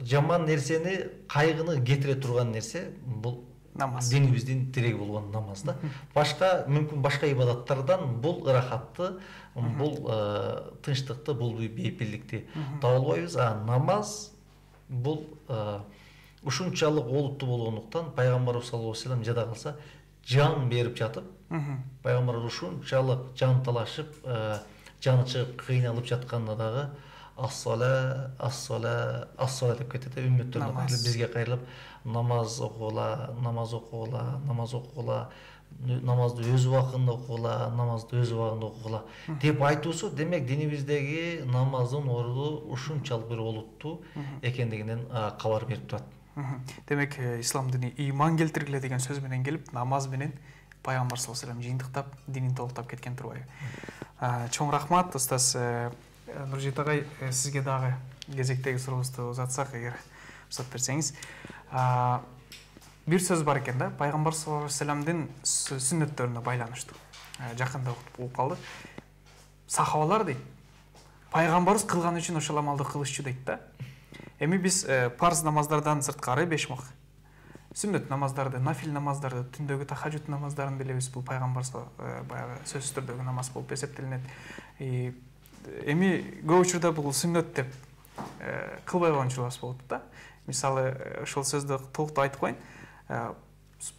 жаман нерсени, кайгыны кетире турган нерсе бул намаз. Динибиздин тиреги болгон намаз да. Башка мүмкүн башка ибадаттардан бул ырахатты, бул тынчтыкты, бул бейпилдикти таба албайбыз. Намаз бул ушунчалык олуттуу болгондуктан пайгамбарыбыз саллаллаху алейхи вассалам жада калса жан берип жатып, пайгамбарыбыз ушунчалык жан талашып, жаны чыгып кыйналып жатканда дагы ас-сала, ас-сала, ас-сала деп кетет. Үммөттөрүнө кайрылып, бизге кайрылып намаз окугула, намаз окугула, намаз окугула, намазды өз убагында окугула, намазды өз убагында окугула деп айтуусу, демек динибиздеги намаздын орду ушунчалык бир олуттуу экендигинен кабар берип турат. Демек ислам дини ыйман келтиргиле деген сөз менен келип, намаз менен пайгамбар саллаллаху алейхи вассалам жыйынтыктап, динин толуктап кеткен турбайбы? Чоң рахмат, устаз Нуржит агай, сизге дагы кезектеги сурообузду узатсак, эгер уруксат берсеңиз. Бир сөз бар экен да, пайгамбар саллаллаху алейхи вассаламдын сүннөттөрүнө байланыштуу. Жакында угуп калды. Сахабалар дейт, пайгамбарыбыз кылган үчүн ошол амалды кылышчу дейт да. Эми биз парз намаздардан сырткары 5 вакыт сүннөт намаздарды, нафил намаздарды, түндөгү тахажжуд намаздарын билебиз. Бул пайгамбар баягы сөзсүз түрдөгү намаз болуп эсептелинет. Эми көп учурда бул сүннөт деп кылбай койгончулар болот да. Мисалы, ошол сөздү толуктуу айтып коеюн.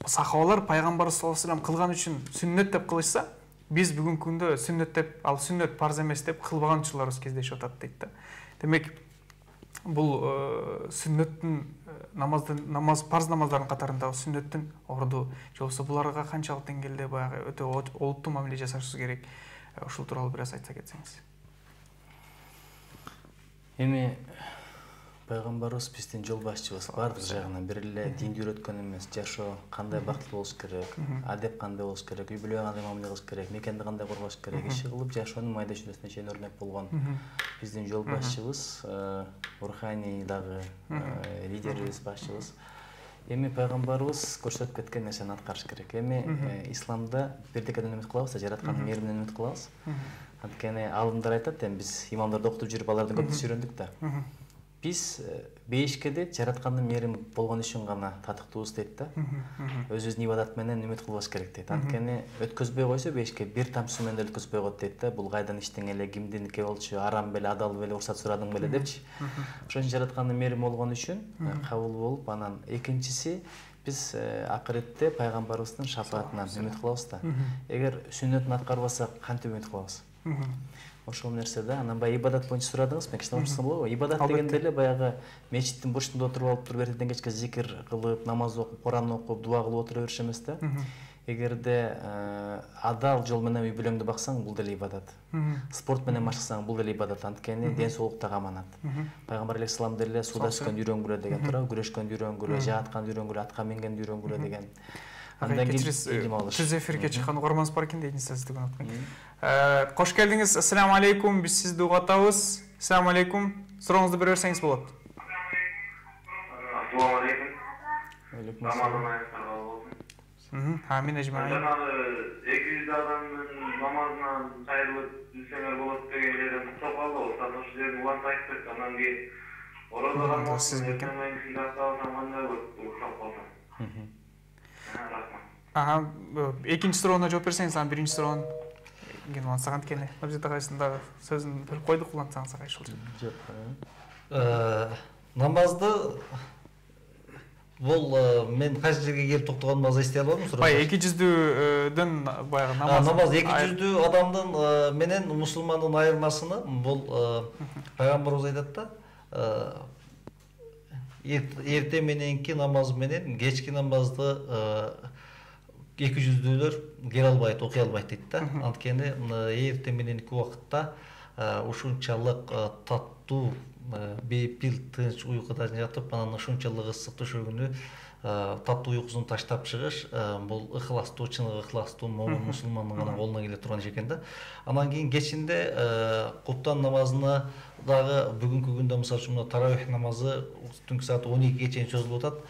Сахабалар пайгамбар саллаллаху алейхи вассалам кылган үчүн сүннөт деп кылышса, биз бүгүнкү күндө сүннөт деп, ал сүннөт парз эмес деп кылбаганчыларыбыз кездешип атат дейт да. Демек, бул сүннөттүн намаз парз намаздардын катарындагы сүннөттүн орду, же болбосо буларга канчалык деңгээлде баягы өтө олуттуу мамиле жасашыбыз керек. Ошол тууралуу бир аз айтса кетсеңиз. Эми пайгамбарыбыз биздин жол башчыбыз, бардык жагынан бир эле динди үйрөткөн эмес, жашоо кандай бактылуу болуш керек, адеп кандай болуш керек, үй бүлөгө кандай мамиле кылыш керек, мекенди кандай коргош керек, иши кылып жашоонун майда чүйдөсүнө чейин өрнөк болгон биздин жол башчыбыз, руханий дагы лидерибиз, башчыбыз. Эми пайгамбарыбыз көрсөтүп кеткен нерсени аткарыш керек. Эми исламда бирдекеден үмүт кылабыз, жараткандын мээриминен үмүт кылабыз. Анткени алымдар айтат, биз имамдарды окутуп жүрүп алардан көп үйрөндүк да. Биз бейишкеде жараткандын мээрими болгон үчүн гана татыктуубуз дейт да. Өзүбүздүн ибадат менен үмүт кылбаш керек дейт. Анткени өткөзбөй койсо бейишке бир тамчысы менен деле өткөзбөй коет дейт да. Бул кайдан иштең эле, кимдиники болчу, арам беле, адал беле, уруксат сурадың беле депчи. Ошон үчүн жараткандын мээрими болгон үчүн кабыл болуп, анан экинчиси биз акыретте пайгамбарыбыздын шафаатынан үмүт кылабыз да. Эгер сүннөтүн аткарбасак, кантип үмүт кылабыз? Ошол нерсе да. Анан баягы ибадат боюнча сурадыңыз, мен кичине урушсам болобу? Ибадат дегенде эле баягы мечиттин бурчунда отуруп алып туруп эртеден кечке зикир кылып, намаз окуп, Куран окуп, дуа кылып отура бериш эмес да. Эгерде адал жол менен үй бүлөңдү баксаң, бул деле ибадат. Спорт менен машыксаң, бул деле ибадат. Анткени ден соолук дагы аманат. Пайгамбар алейхиссалам деле суда сүзгөндү үйрөнгүлө деген туурабы, күрөшкөндү үйрөнгүлө, жаатканды үйрөнгүлө, атка мингенди үйрөнгүлө деген. Андан кийин түз эфирге чыккан угарманыбыз бар экен дейт, сизди күнөткөн. Кош келдиңиз. Ассаламу алейкум. Биз сизди угуп атабыз. Ассаламу алейкум. Сурооңузду бере берсеңиз болот. Ассаламу алейкум. Алейкум ассалам. Амин ажмаин. Жанагы 200 адамдын намазынан кайрылып жүрсөңөр болот деген жерден уктап калды. Ошол жерден уланып айтып кетти. Андан кийин ораза экинчи суроону жооп берсеңиз, анан биринчи суроонун кийин улантсак, анткени Нуржит агайсынын дагы сөзүн бөлүп койдук, улантсаңыз агай ушул жерде. Намазды бул мен кайсы жерге келип токтогонумду азыр эстей албадым. Баягы 200дөн баягы намаз 200 адамдын менен мусулмандын айырмасыны бул пайгамбарыбыз айтат да, эрте мененки намаз менен кечки намазды 200дүүлөр келе албайт, окуй албайт дейт да. Анткени эрте мененки убакытта ушунчалык таттуу бейпил тынч уйкуда жатып анан ушунчалык ысык төшөгүнү таттуу уйкусун таштап чыгыш бул ыхластуу, чыныгы ыхластуу момун мусулмандын гана колуна келе турган иш экен да. Анан кийин кечинде куптан намазына дагы бүгүнкү күндө мисалы үчүн таравих намазы түнкү саат 12-ге чейин созулуп атат.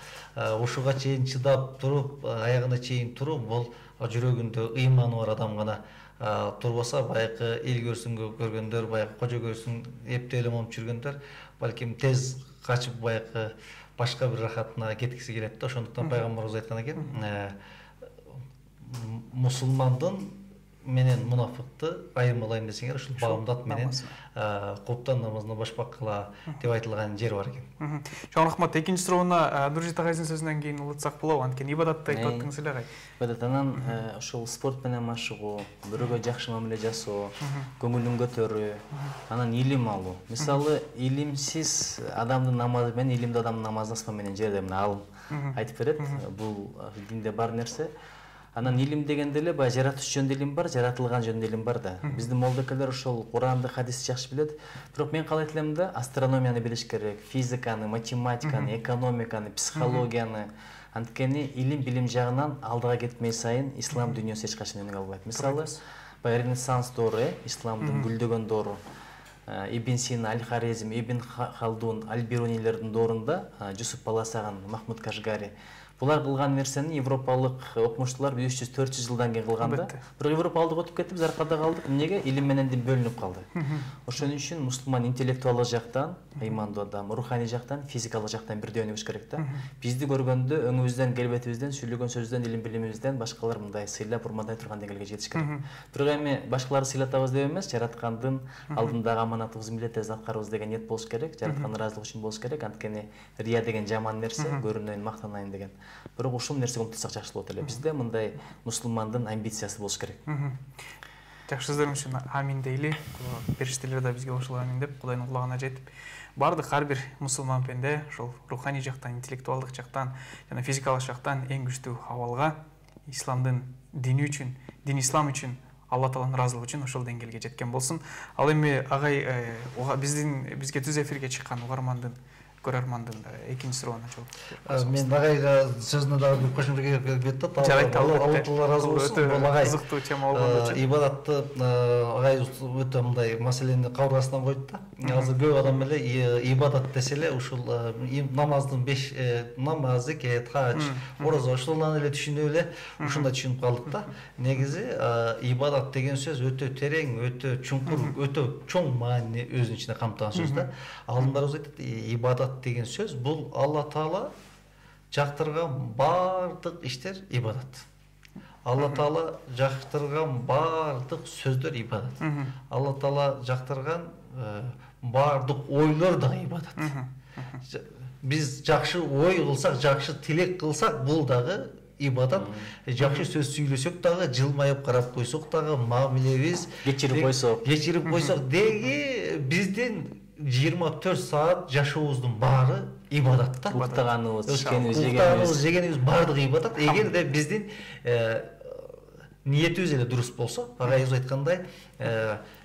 Ушуга чейин чыдап туруп, аягына чейин туруп, бул жүрөгүндө ыйманы бар адам гана турбаса, баягы эл көргөндөр, баягы кожо көрсүн эптеп эле момуп жүргөндөр балким тез качып баягы башка бир рахатына кеткиси келет да. Ошондуктан пайгамбарыбыз айткан экен, мусулмандын менен мунафыкты айырмалайм десеңер, ушул баамдат менен куптан намазына башпаккыла деп айтылган жер бар экен. Чоң рахмат. Экинчи суроону Нуржит агайдын сөзүнөн кийин улутсак болобу? Анткени ибадатты айтып аттыңыз эле агай. Ибадат анан ушул спорт менен машыгуу, бирөөгө жакшы мамиле жасоо, көңүлүн көтөрүү, анан илим алуу. Мисалы, илимсиз адамдын намазы менен илимдүү адамдын намазы асман менен жер деп алым айтып берет. Бул динде бар нерсе. Анан илим дегенде эле баягы жаратуш жөнүндө илим бар, жаратылган жөнүндө илим бар да. Биздин молдокелер ошол Куранды, хадисти жакшы билет. Бирок мен калайт элем да, астрономияны билиш керек, физиканы, математиканы, экономиканы, психологияны. Анткени илим билим жагынан алдыга кетмей сайын ислам дүйнөсү эч качан өнүгө албайт. Мисалы, баягы Ренессанс доору, исламдын гүлдөгөн доору, Ибн Сина, Аль-Харизм, Ибн Халдун, Аль-Бирунилердин доорунда Жусуп Баласаган, Махмуд Кашгари булар кылган нерсени европалык окумуштуулар 300-400 жылдан кийин кылган да. Бирок европалык өтүп кетип, заркада калдык. Эмнеге? Илим менен дин бөлүнүп калды. Ошон үчүн мусулман интеллектуалдык жактан, ыймандуу адам, руханий жактан, физикалык жактан бирдей өнүгүш керек да. Бизди көргөндө өңүбүздөн, келбетибизден, сүйлөгөн сөзүбүздөн, илим билимибизден башкалар мындай сыйлап, урмандай турган деңгээлге жетиш керек. Бирок эми башкаларды сыйлатабыз деп эмес, жараткандын алдындагы аманатыбызды милдетибизди аткарабыз деген ниет болуш керек, жараткандын ыраазылыгы үчүн болуш керек. Анткени рия деген жаман нерсе, көрүнөйүн, мактанайын деген. Бирок ушул нерсеге умтулсак жакшы болот эле. Бизде мындай мусулмандын амбициясы болуш керек. Жакшы сөздөр үчүн амин дейли. Периштелер да бизге ошол амин деп, Кудайдын кулагына жетип, бардык ар бир мусулман пенде ошол руханий жактан, интеллектуалдык жактан жана физикалык жактан эң күчтүү абалга исламдын дини үчүн, дин ислам үчүн, Алла Тааланын ыраазылыгы үчүн ошол деңгээлге жеткен болсун. Ал эми агай бизге түз эфирге чыккан угармандын, көрөрмандын экинчи суроону жооп. Мен агайга сөзүнө дагы бир кошумча келет да. Алла Таала ыраазы болсун. Бул агай кызыктуу тема болгондо ибадатты агай өтө мындай маселени кабыргасынан койду да. Азыр көп адам эле ибадат десе эле ушул намаздын 5 намаз, зекет, хадж, ораза ушуларны эле түшүнүп эле ушундай түшүнүп калдык да. Негизи ибадат деген сөз өтө терең, өтө чуңкур, өтө чоң маанини өзүнүн ичине камтыган сөз да. Алдымдарыбыз айтат, ибадат деген сөз бул Алла Таала жактырган бардык иштер ибадат. Алла Таала жактырган бардык сөздөр ибадат. Алла Таала жактырган бардык ойлор да ибадат. Биз жакшы ой кылсак, жакшы тилек кылсак, бул дагы ибадат. Жакшы сөз сүйлөсөк дагы, жылмайып карап койсок дагы, мамилебиз кечирип койсок деги биздин 24 саат жашообуздун баары ибадат да. Уктаганыбыз, жегенибиз бардыгы ибадат. Эгерде биздин ниетибиз эле дурус болсо, агайыбыз айткандай,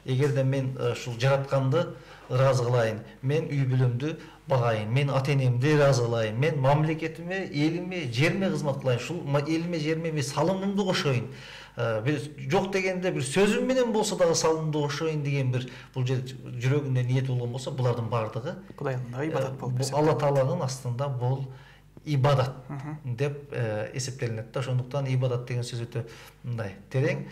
эгерде мен ушул жаратканды ыраазы кылайын, мен үй бүлөмдү багайын, мен ата-энемди ыраазы кылайын, мен мамлекетиме, элиме, жериме кызмат кылайын, ушул элиме, жериме салымымды кошоюн. Жок дегенде бир сөзүм менен болсо дагы салымды кошоюн деген бир бул жүрөгүндө ниет болгон болсо, булардын бардыгы Кудайдын ибадат болуп эсептелет. Алла Тааланын астында бул ибадат деп эсептелинет да. Ошондуктан ибадат деген сөз өтө мындай терең,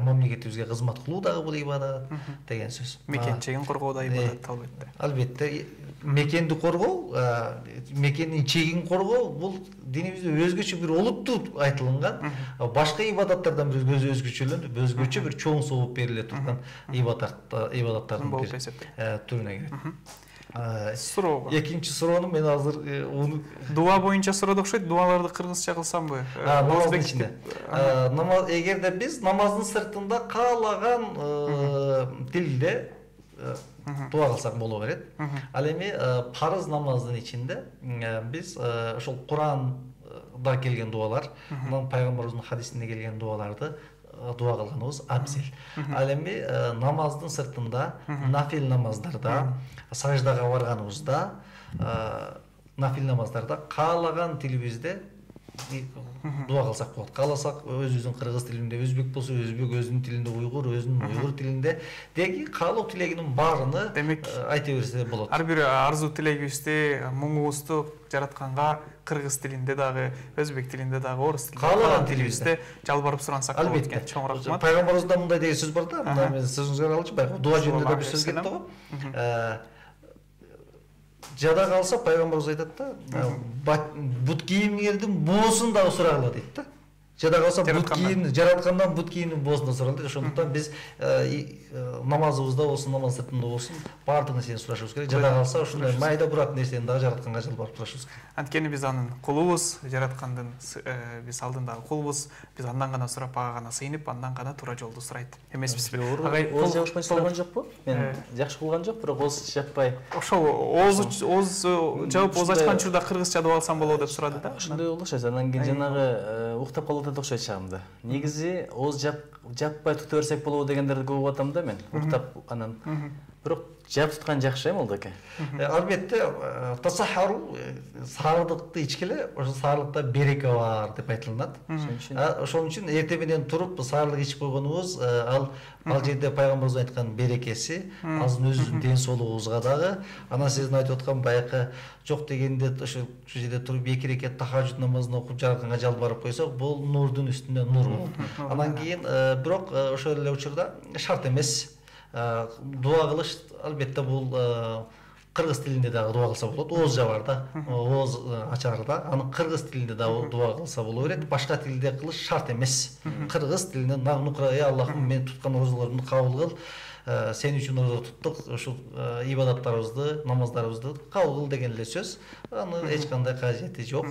мамлекетибизге кызмат кылуу дагы бул ибадат деген сөз. Мекен чегин коргоо да ибадат албетте. Албетте, мекенди коргоо, мекендин чегин коргоо бул динибизде өзгөчө бир олуттуу айтылган. Башка ибадаттардан бир өзгөчөлөнүп, өзгөчө бир чоң сооп бериле турган ибадаттардын түрүнө кирет. Суроо. Экинчи суроону мен азыр дуа боюнча суроод окшойт. Дуаларды кыргызча кылсамбы? Намаздын ичинде. Эгерде биз намаздын сыртында каалаган тилде дуа кылсак боло берет. Ал эми парыз намаздын ичинде биз ошол Куранда келген дуалар, пайгамбарыбыздын хадисинде келген дуаларды дуа кылганыбыз абзел. Ал эми намаздын сыртында нафил намаздарда, саждага барганыбызда, нафил намаздарда каалаган тилибизде дуа кылсак болот. Кааласак өзүбүздүн кыргыз тилинде, өзбек болсо өзбек, өзүнүн тилинде, уйгур өзүнүн уйгур тилинде деги каалоо тилегинин баарыны айта берсе болот. Ар бир арзуу тилегибизди, муңубузду жаратканга кыргыз тилинде дагы, өзбек тилинде дагы, орус тилинде каалаган тилибизде жалбарып сурансак болот экен. Чоң рахмат. Пайгамбарыбызда мындай деген сөз бар да, мына мен сөзүңүзгө алчу, баягы дуа жөнүндө да бир сөз кетти го. Жада калса пайгамбарыбыз айтат да, бут кийимиңердин боосун дагы сурагыла дейт да. Жада калса бут кийим, жараткандан бут кийимдин боосун да сурагыла дейт. Ошондуктан биз намазыбызда болсун, намаз сыртында болсун, баардык нерсени сурашыбыз керек. Жада калса ушундай майда бурак нерсени дагы жаратканга жалбарып турушубуз керек. Анткени биз анын кулубуз, жараткандын биз алдындагы кулубуз, биз андан гана сурап, ага гана сыйынып, андан гана туура жолду сурайт эмеспизби? Агай, ооз жаппай сураган жокпу? Мен жакшы кылган жок, бирок ооз жаппай. Ошол ооз жаап, ооз ачкан учурда кыргызча дуб алсам болобу деп сурады да. Ошондой болду окшойт. Анан кийин жанагы уктап калып атат окшойт чагымда. Негизи ооз жаппай тута берсек болобу дегендерди көп угатам да мен. Уктап анан. Бирок жап туткан жакшы молдоке. Албетте, тасахару саардыкты ичкеле, ошо саардыкта береке бар деп айтылат. Ошон үчүн эртең менен туруп саардык ичип койгонубуз, ал жерде пайгамбарыбыз айткан берекеси, азыр өзүбүздүн ден соолугубузга дагы, анан сиздин айтып аткан баягы жок дегенде ошо жерде туруп 2 рекат тахажжуд намазын окуп жаратканга жалбарып койсок, бул нурдун үстүнө нур болот. Анан кийин бирок ошол эле учурда шарт эмес. Дуа кылыш албетте бул кыргыз тилинде дагы дуа кылса болот. Ооз жабар да, ооз ачар да. Аны кыргыз тилинде дагы дуа кылса боло берет. Башка тилде кылыш шарт эмес. Кыргыз тилинде нагнукра, Аллахым, мен туткан оозлорумду кабыл кыл. Сен үчүн оозо туттук, ушул ибадаттарыбызды, намаздарыбызды кабыл кыл деген эле сөз. Анын эч кандай кажети жок.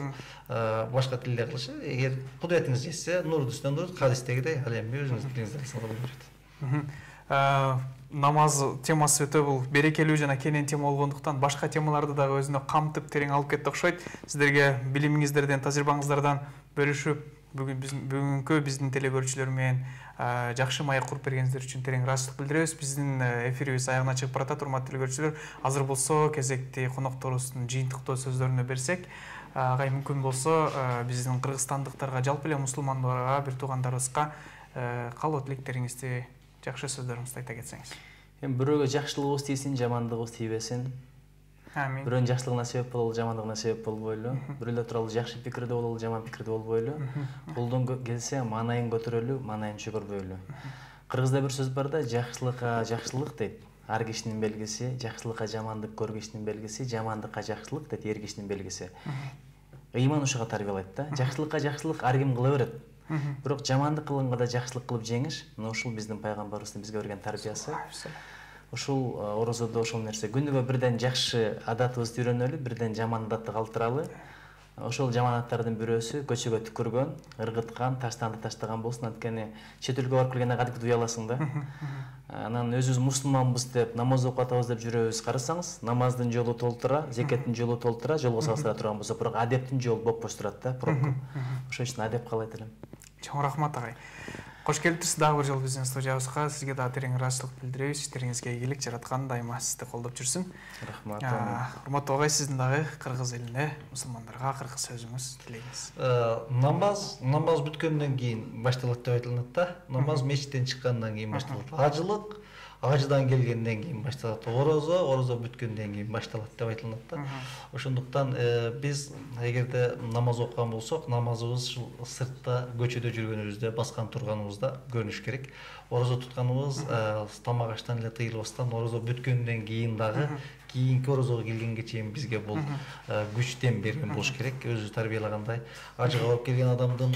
Башка тилде кылышы, эгер кудуретиңиз жетсе, нурдун үстүнө нур, хадистегидей, ал эми өзүңүздүн тилиңизде кылсаңыз боло берет. Намаз темасы өтө бул берекелүү жана кенен тема болгондуктан башка темаларды дагы өзүнө камтып терең алып кетти окшойт. Сиздерге билимиңиздерден, тажрыйбаңыздардан бөлүшүп, бүгүнкү биздин телекөрүүчүлөр менен жакшы маек куруп бергениңиздер үчүн терең ыраазычылык билдиребиз. Биздин эфирибиз аягына чыгып баратат, урматтуу телекөрүүчүлөр. Азыр болсо кезекти конокторубуздун жыйынтыктоо сөздөрүнө берсек, агай мүмкүн болсо биздин кыргызстандыктарга, жалпы эле мусулмандарга, бир туугандарыбызга каалоо тилектериңизди, жакшы сөздөрүңүздү айта кетсеңиз. Эми бирөөгө жакшылыгыбыз тийсин, жамандыгыбыз тийбесин. Амин. Бирөөнүн жакшылыгына себеп бололу, жамандыгына себеп болбойлу. Бирөөлөр тууралуу жакшы пикирде бололу, жаман пикирде болбойлу. Колдон келсе маанайын көтөрөлү, маанайын чөгөрбөйлү. Кыргызда бир сөз бар да, жакшылыкка жакшылык дейт. Ар кишинин белгиси, жакшылыкка жамандык көр кишинин белгиси, жамандыкка жакшылык дейт, эр кишинин белгиси. Ыйман ушуга тарбиялайт да. Жакшылыкка жакшылык ар ким кыла берет. Бирок жамандык кылганга да жакшылык кылып жеңиш, мына ушул биздин пайгамбарыбыздын бизге берген тарбиясы. Ушул орозодо ошол нерсе. Күнүгө бирден жакшы адатыбызды үйрөнөлү, бирден жаман адатты калтыралы. Ошол жаман адаттардын бирөөсү көчөгө түкүргөн, ыргыткан, таштанды таштаган болсун. Анткени чет өлкөгө барып келгенде кадимки уяласың да. Анан өзүбүз мусулманбыз деп, намаз окуп атабыз деп жүрөбүз. Карасаңыз, намаздын жолу толтура, зекеттин жолу толтура, жолго салыштыра турган болсо, бирок адептин жолу бопбош турат да, пробка. Ошол үчүн адеп каалайт элем. Чоң рахмат агай. Кош келиптирсиз дагы бир жолу биздин студиябызга. Сизге дагы терең ыраазычылык билдиребиз. Иштериңизге ийгилик, жараткан дайыма сизди колдоп жүрсүн. Рахмат. Урматтуу агай, сиздин дагы кыргыз элине, мусулмандарга кыргыз сөзүңүз, тилегиңиз. Намаз бүткөндөн кийин башталат деп айтылат да. Намаз мечиттен чыккандан кийин башталат. Ажылык ажыдан келгенден кийин башталат. Орозо бүткөндөн кийин башталат деп айтылат да. Ошондуктан биз эгерде намаз окуган болсок, намазыбыз ушул сыртта, көчөдө жүргөнүбүздө, баскан турганыбызда көрүнүш керек. Орозо тутканыбыз тамак аштан эле тыйылбастан, орозо бүткөндөн кийин дагы кийинки орозого келгенге чейин бизге бул күчтен берген болуш керек. Өзү тарбиялагандай, ажыга барып келген адамдын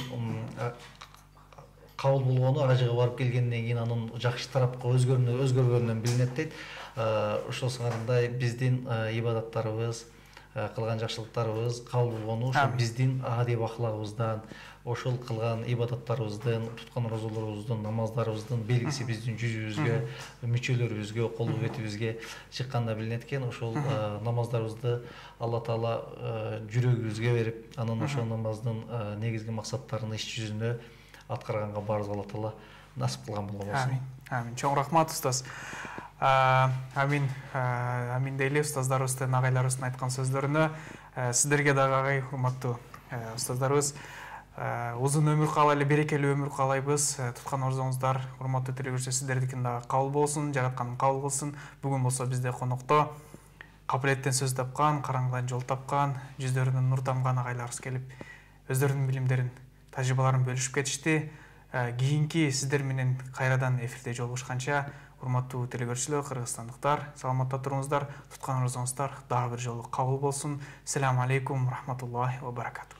кабыл болгону ажыга барып келгенден кийин анын жакшы тарапка өзгөргөнүнөн билинет дейт. Ошол сыңарындай биздин ибадаттарыбыз, кылган жакшылыктарыбыз кабыл болгону ошо биздин адеп аклагыбыздан, ошол кылган ибадаттарыбыздын, туткан орозолорубуздун, намаздарыбыздын белгиси биздин жүзүбүзгө, мүчөлөрүбүзгө, кол бетибизге чыкканда билинет экен. Ошол намаздарыбызды Алла Таала жүрөгүбүзгө берип, анан ошол намаздын негизги максаттарын иш жүзүнө аткарганга баарыбызга Алла Таала насип кылган болгон болсун. Амин. Чоң рахмат устаз. Амин дейли устаздарыбыздын, агайларыбыздын айткан сөздөрүнө. Сиздерге дагы агай, урматтуу устаздарыбыз, узун өмүр каалайлы, берекелүү өмүр каалайбыз. Туткан орзоңуздар, урматтуу телекөрүүчүлөр, сиздердикин дагы кабыл болсун, жараткан кабыл кылсын. Бүгүн болсо бизде конокто кабилеттен сөз тапкан, караңгыдан жол тапкан, жүздөрүнөн нур тамган агайларыбыз келип, өздөрүнүн билимдерин, тажрыйбаларын бөлүшүп кетишти. Кийинки сиздер менен кайрадан эфирде жолугушканча, урматтуу телекөрүүчүлөр, кыргызстандыктар, саламатта туруңуздар, туткан орзоңуздар дагы бир жолу кабыл болсун. Селаму алейкум, рахматуллахи ва баракатух.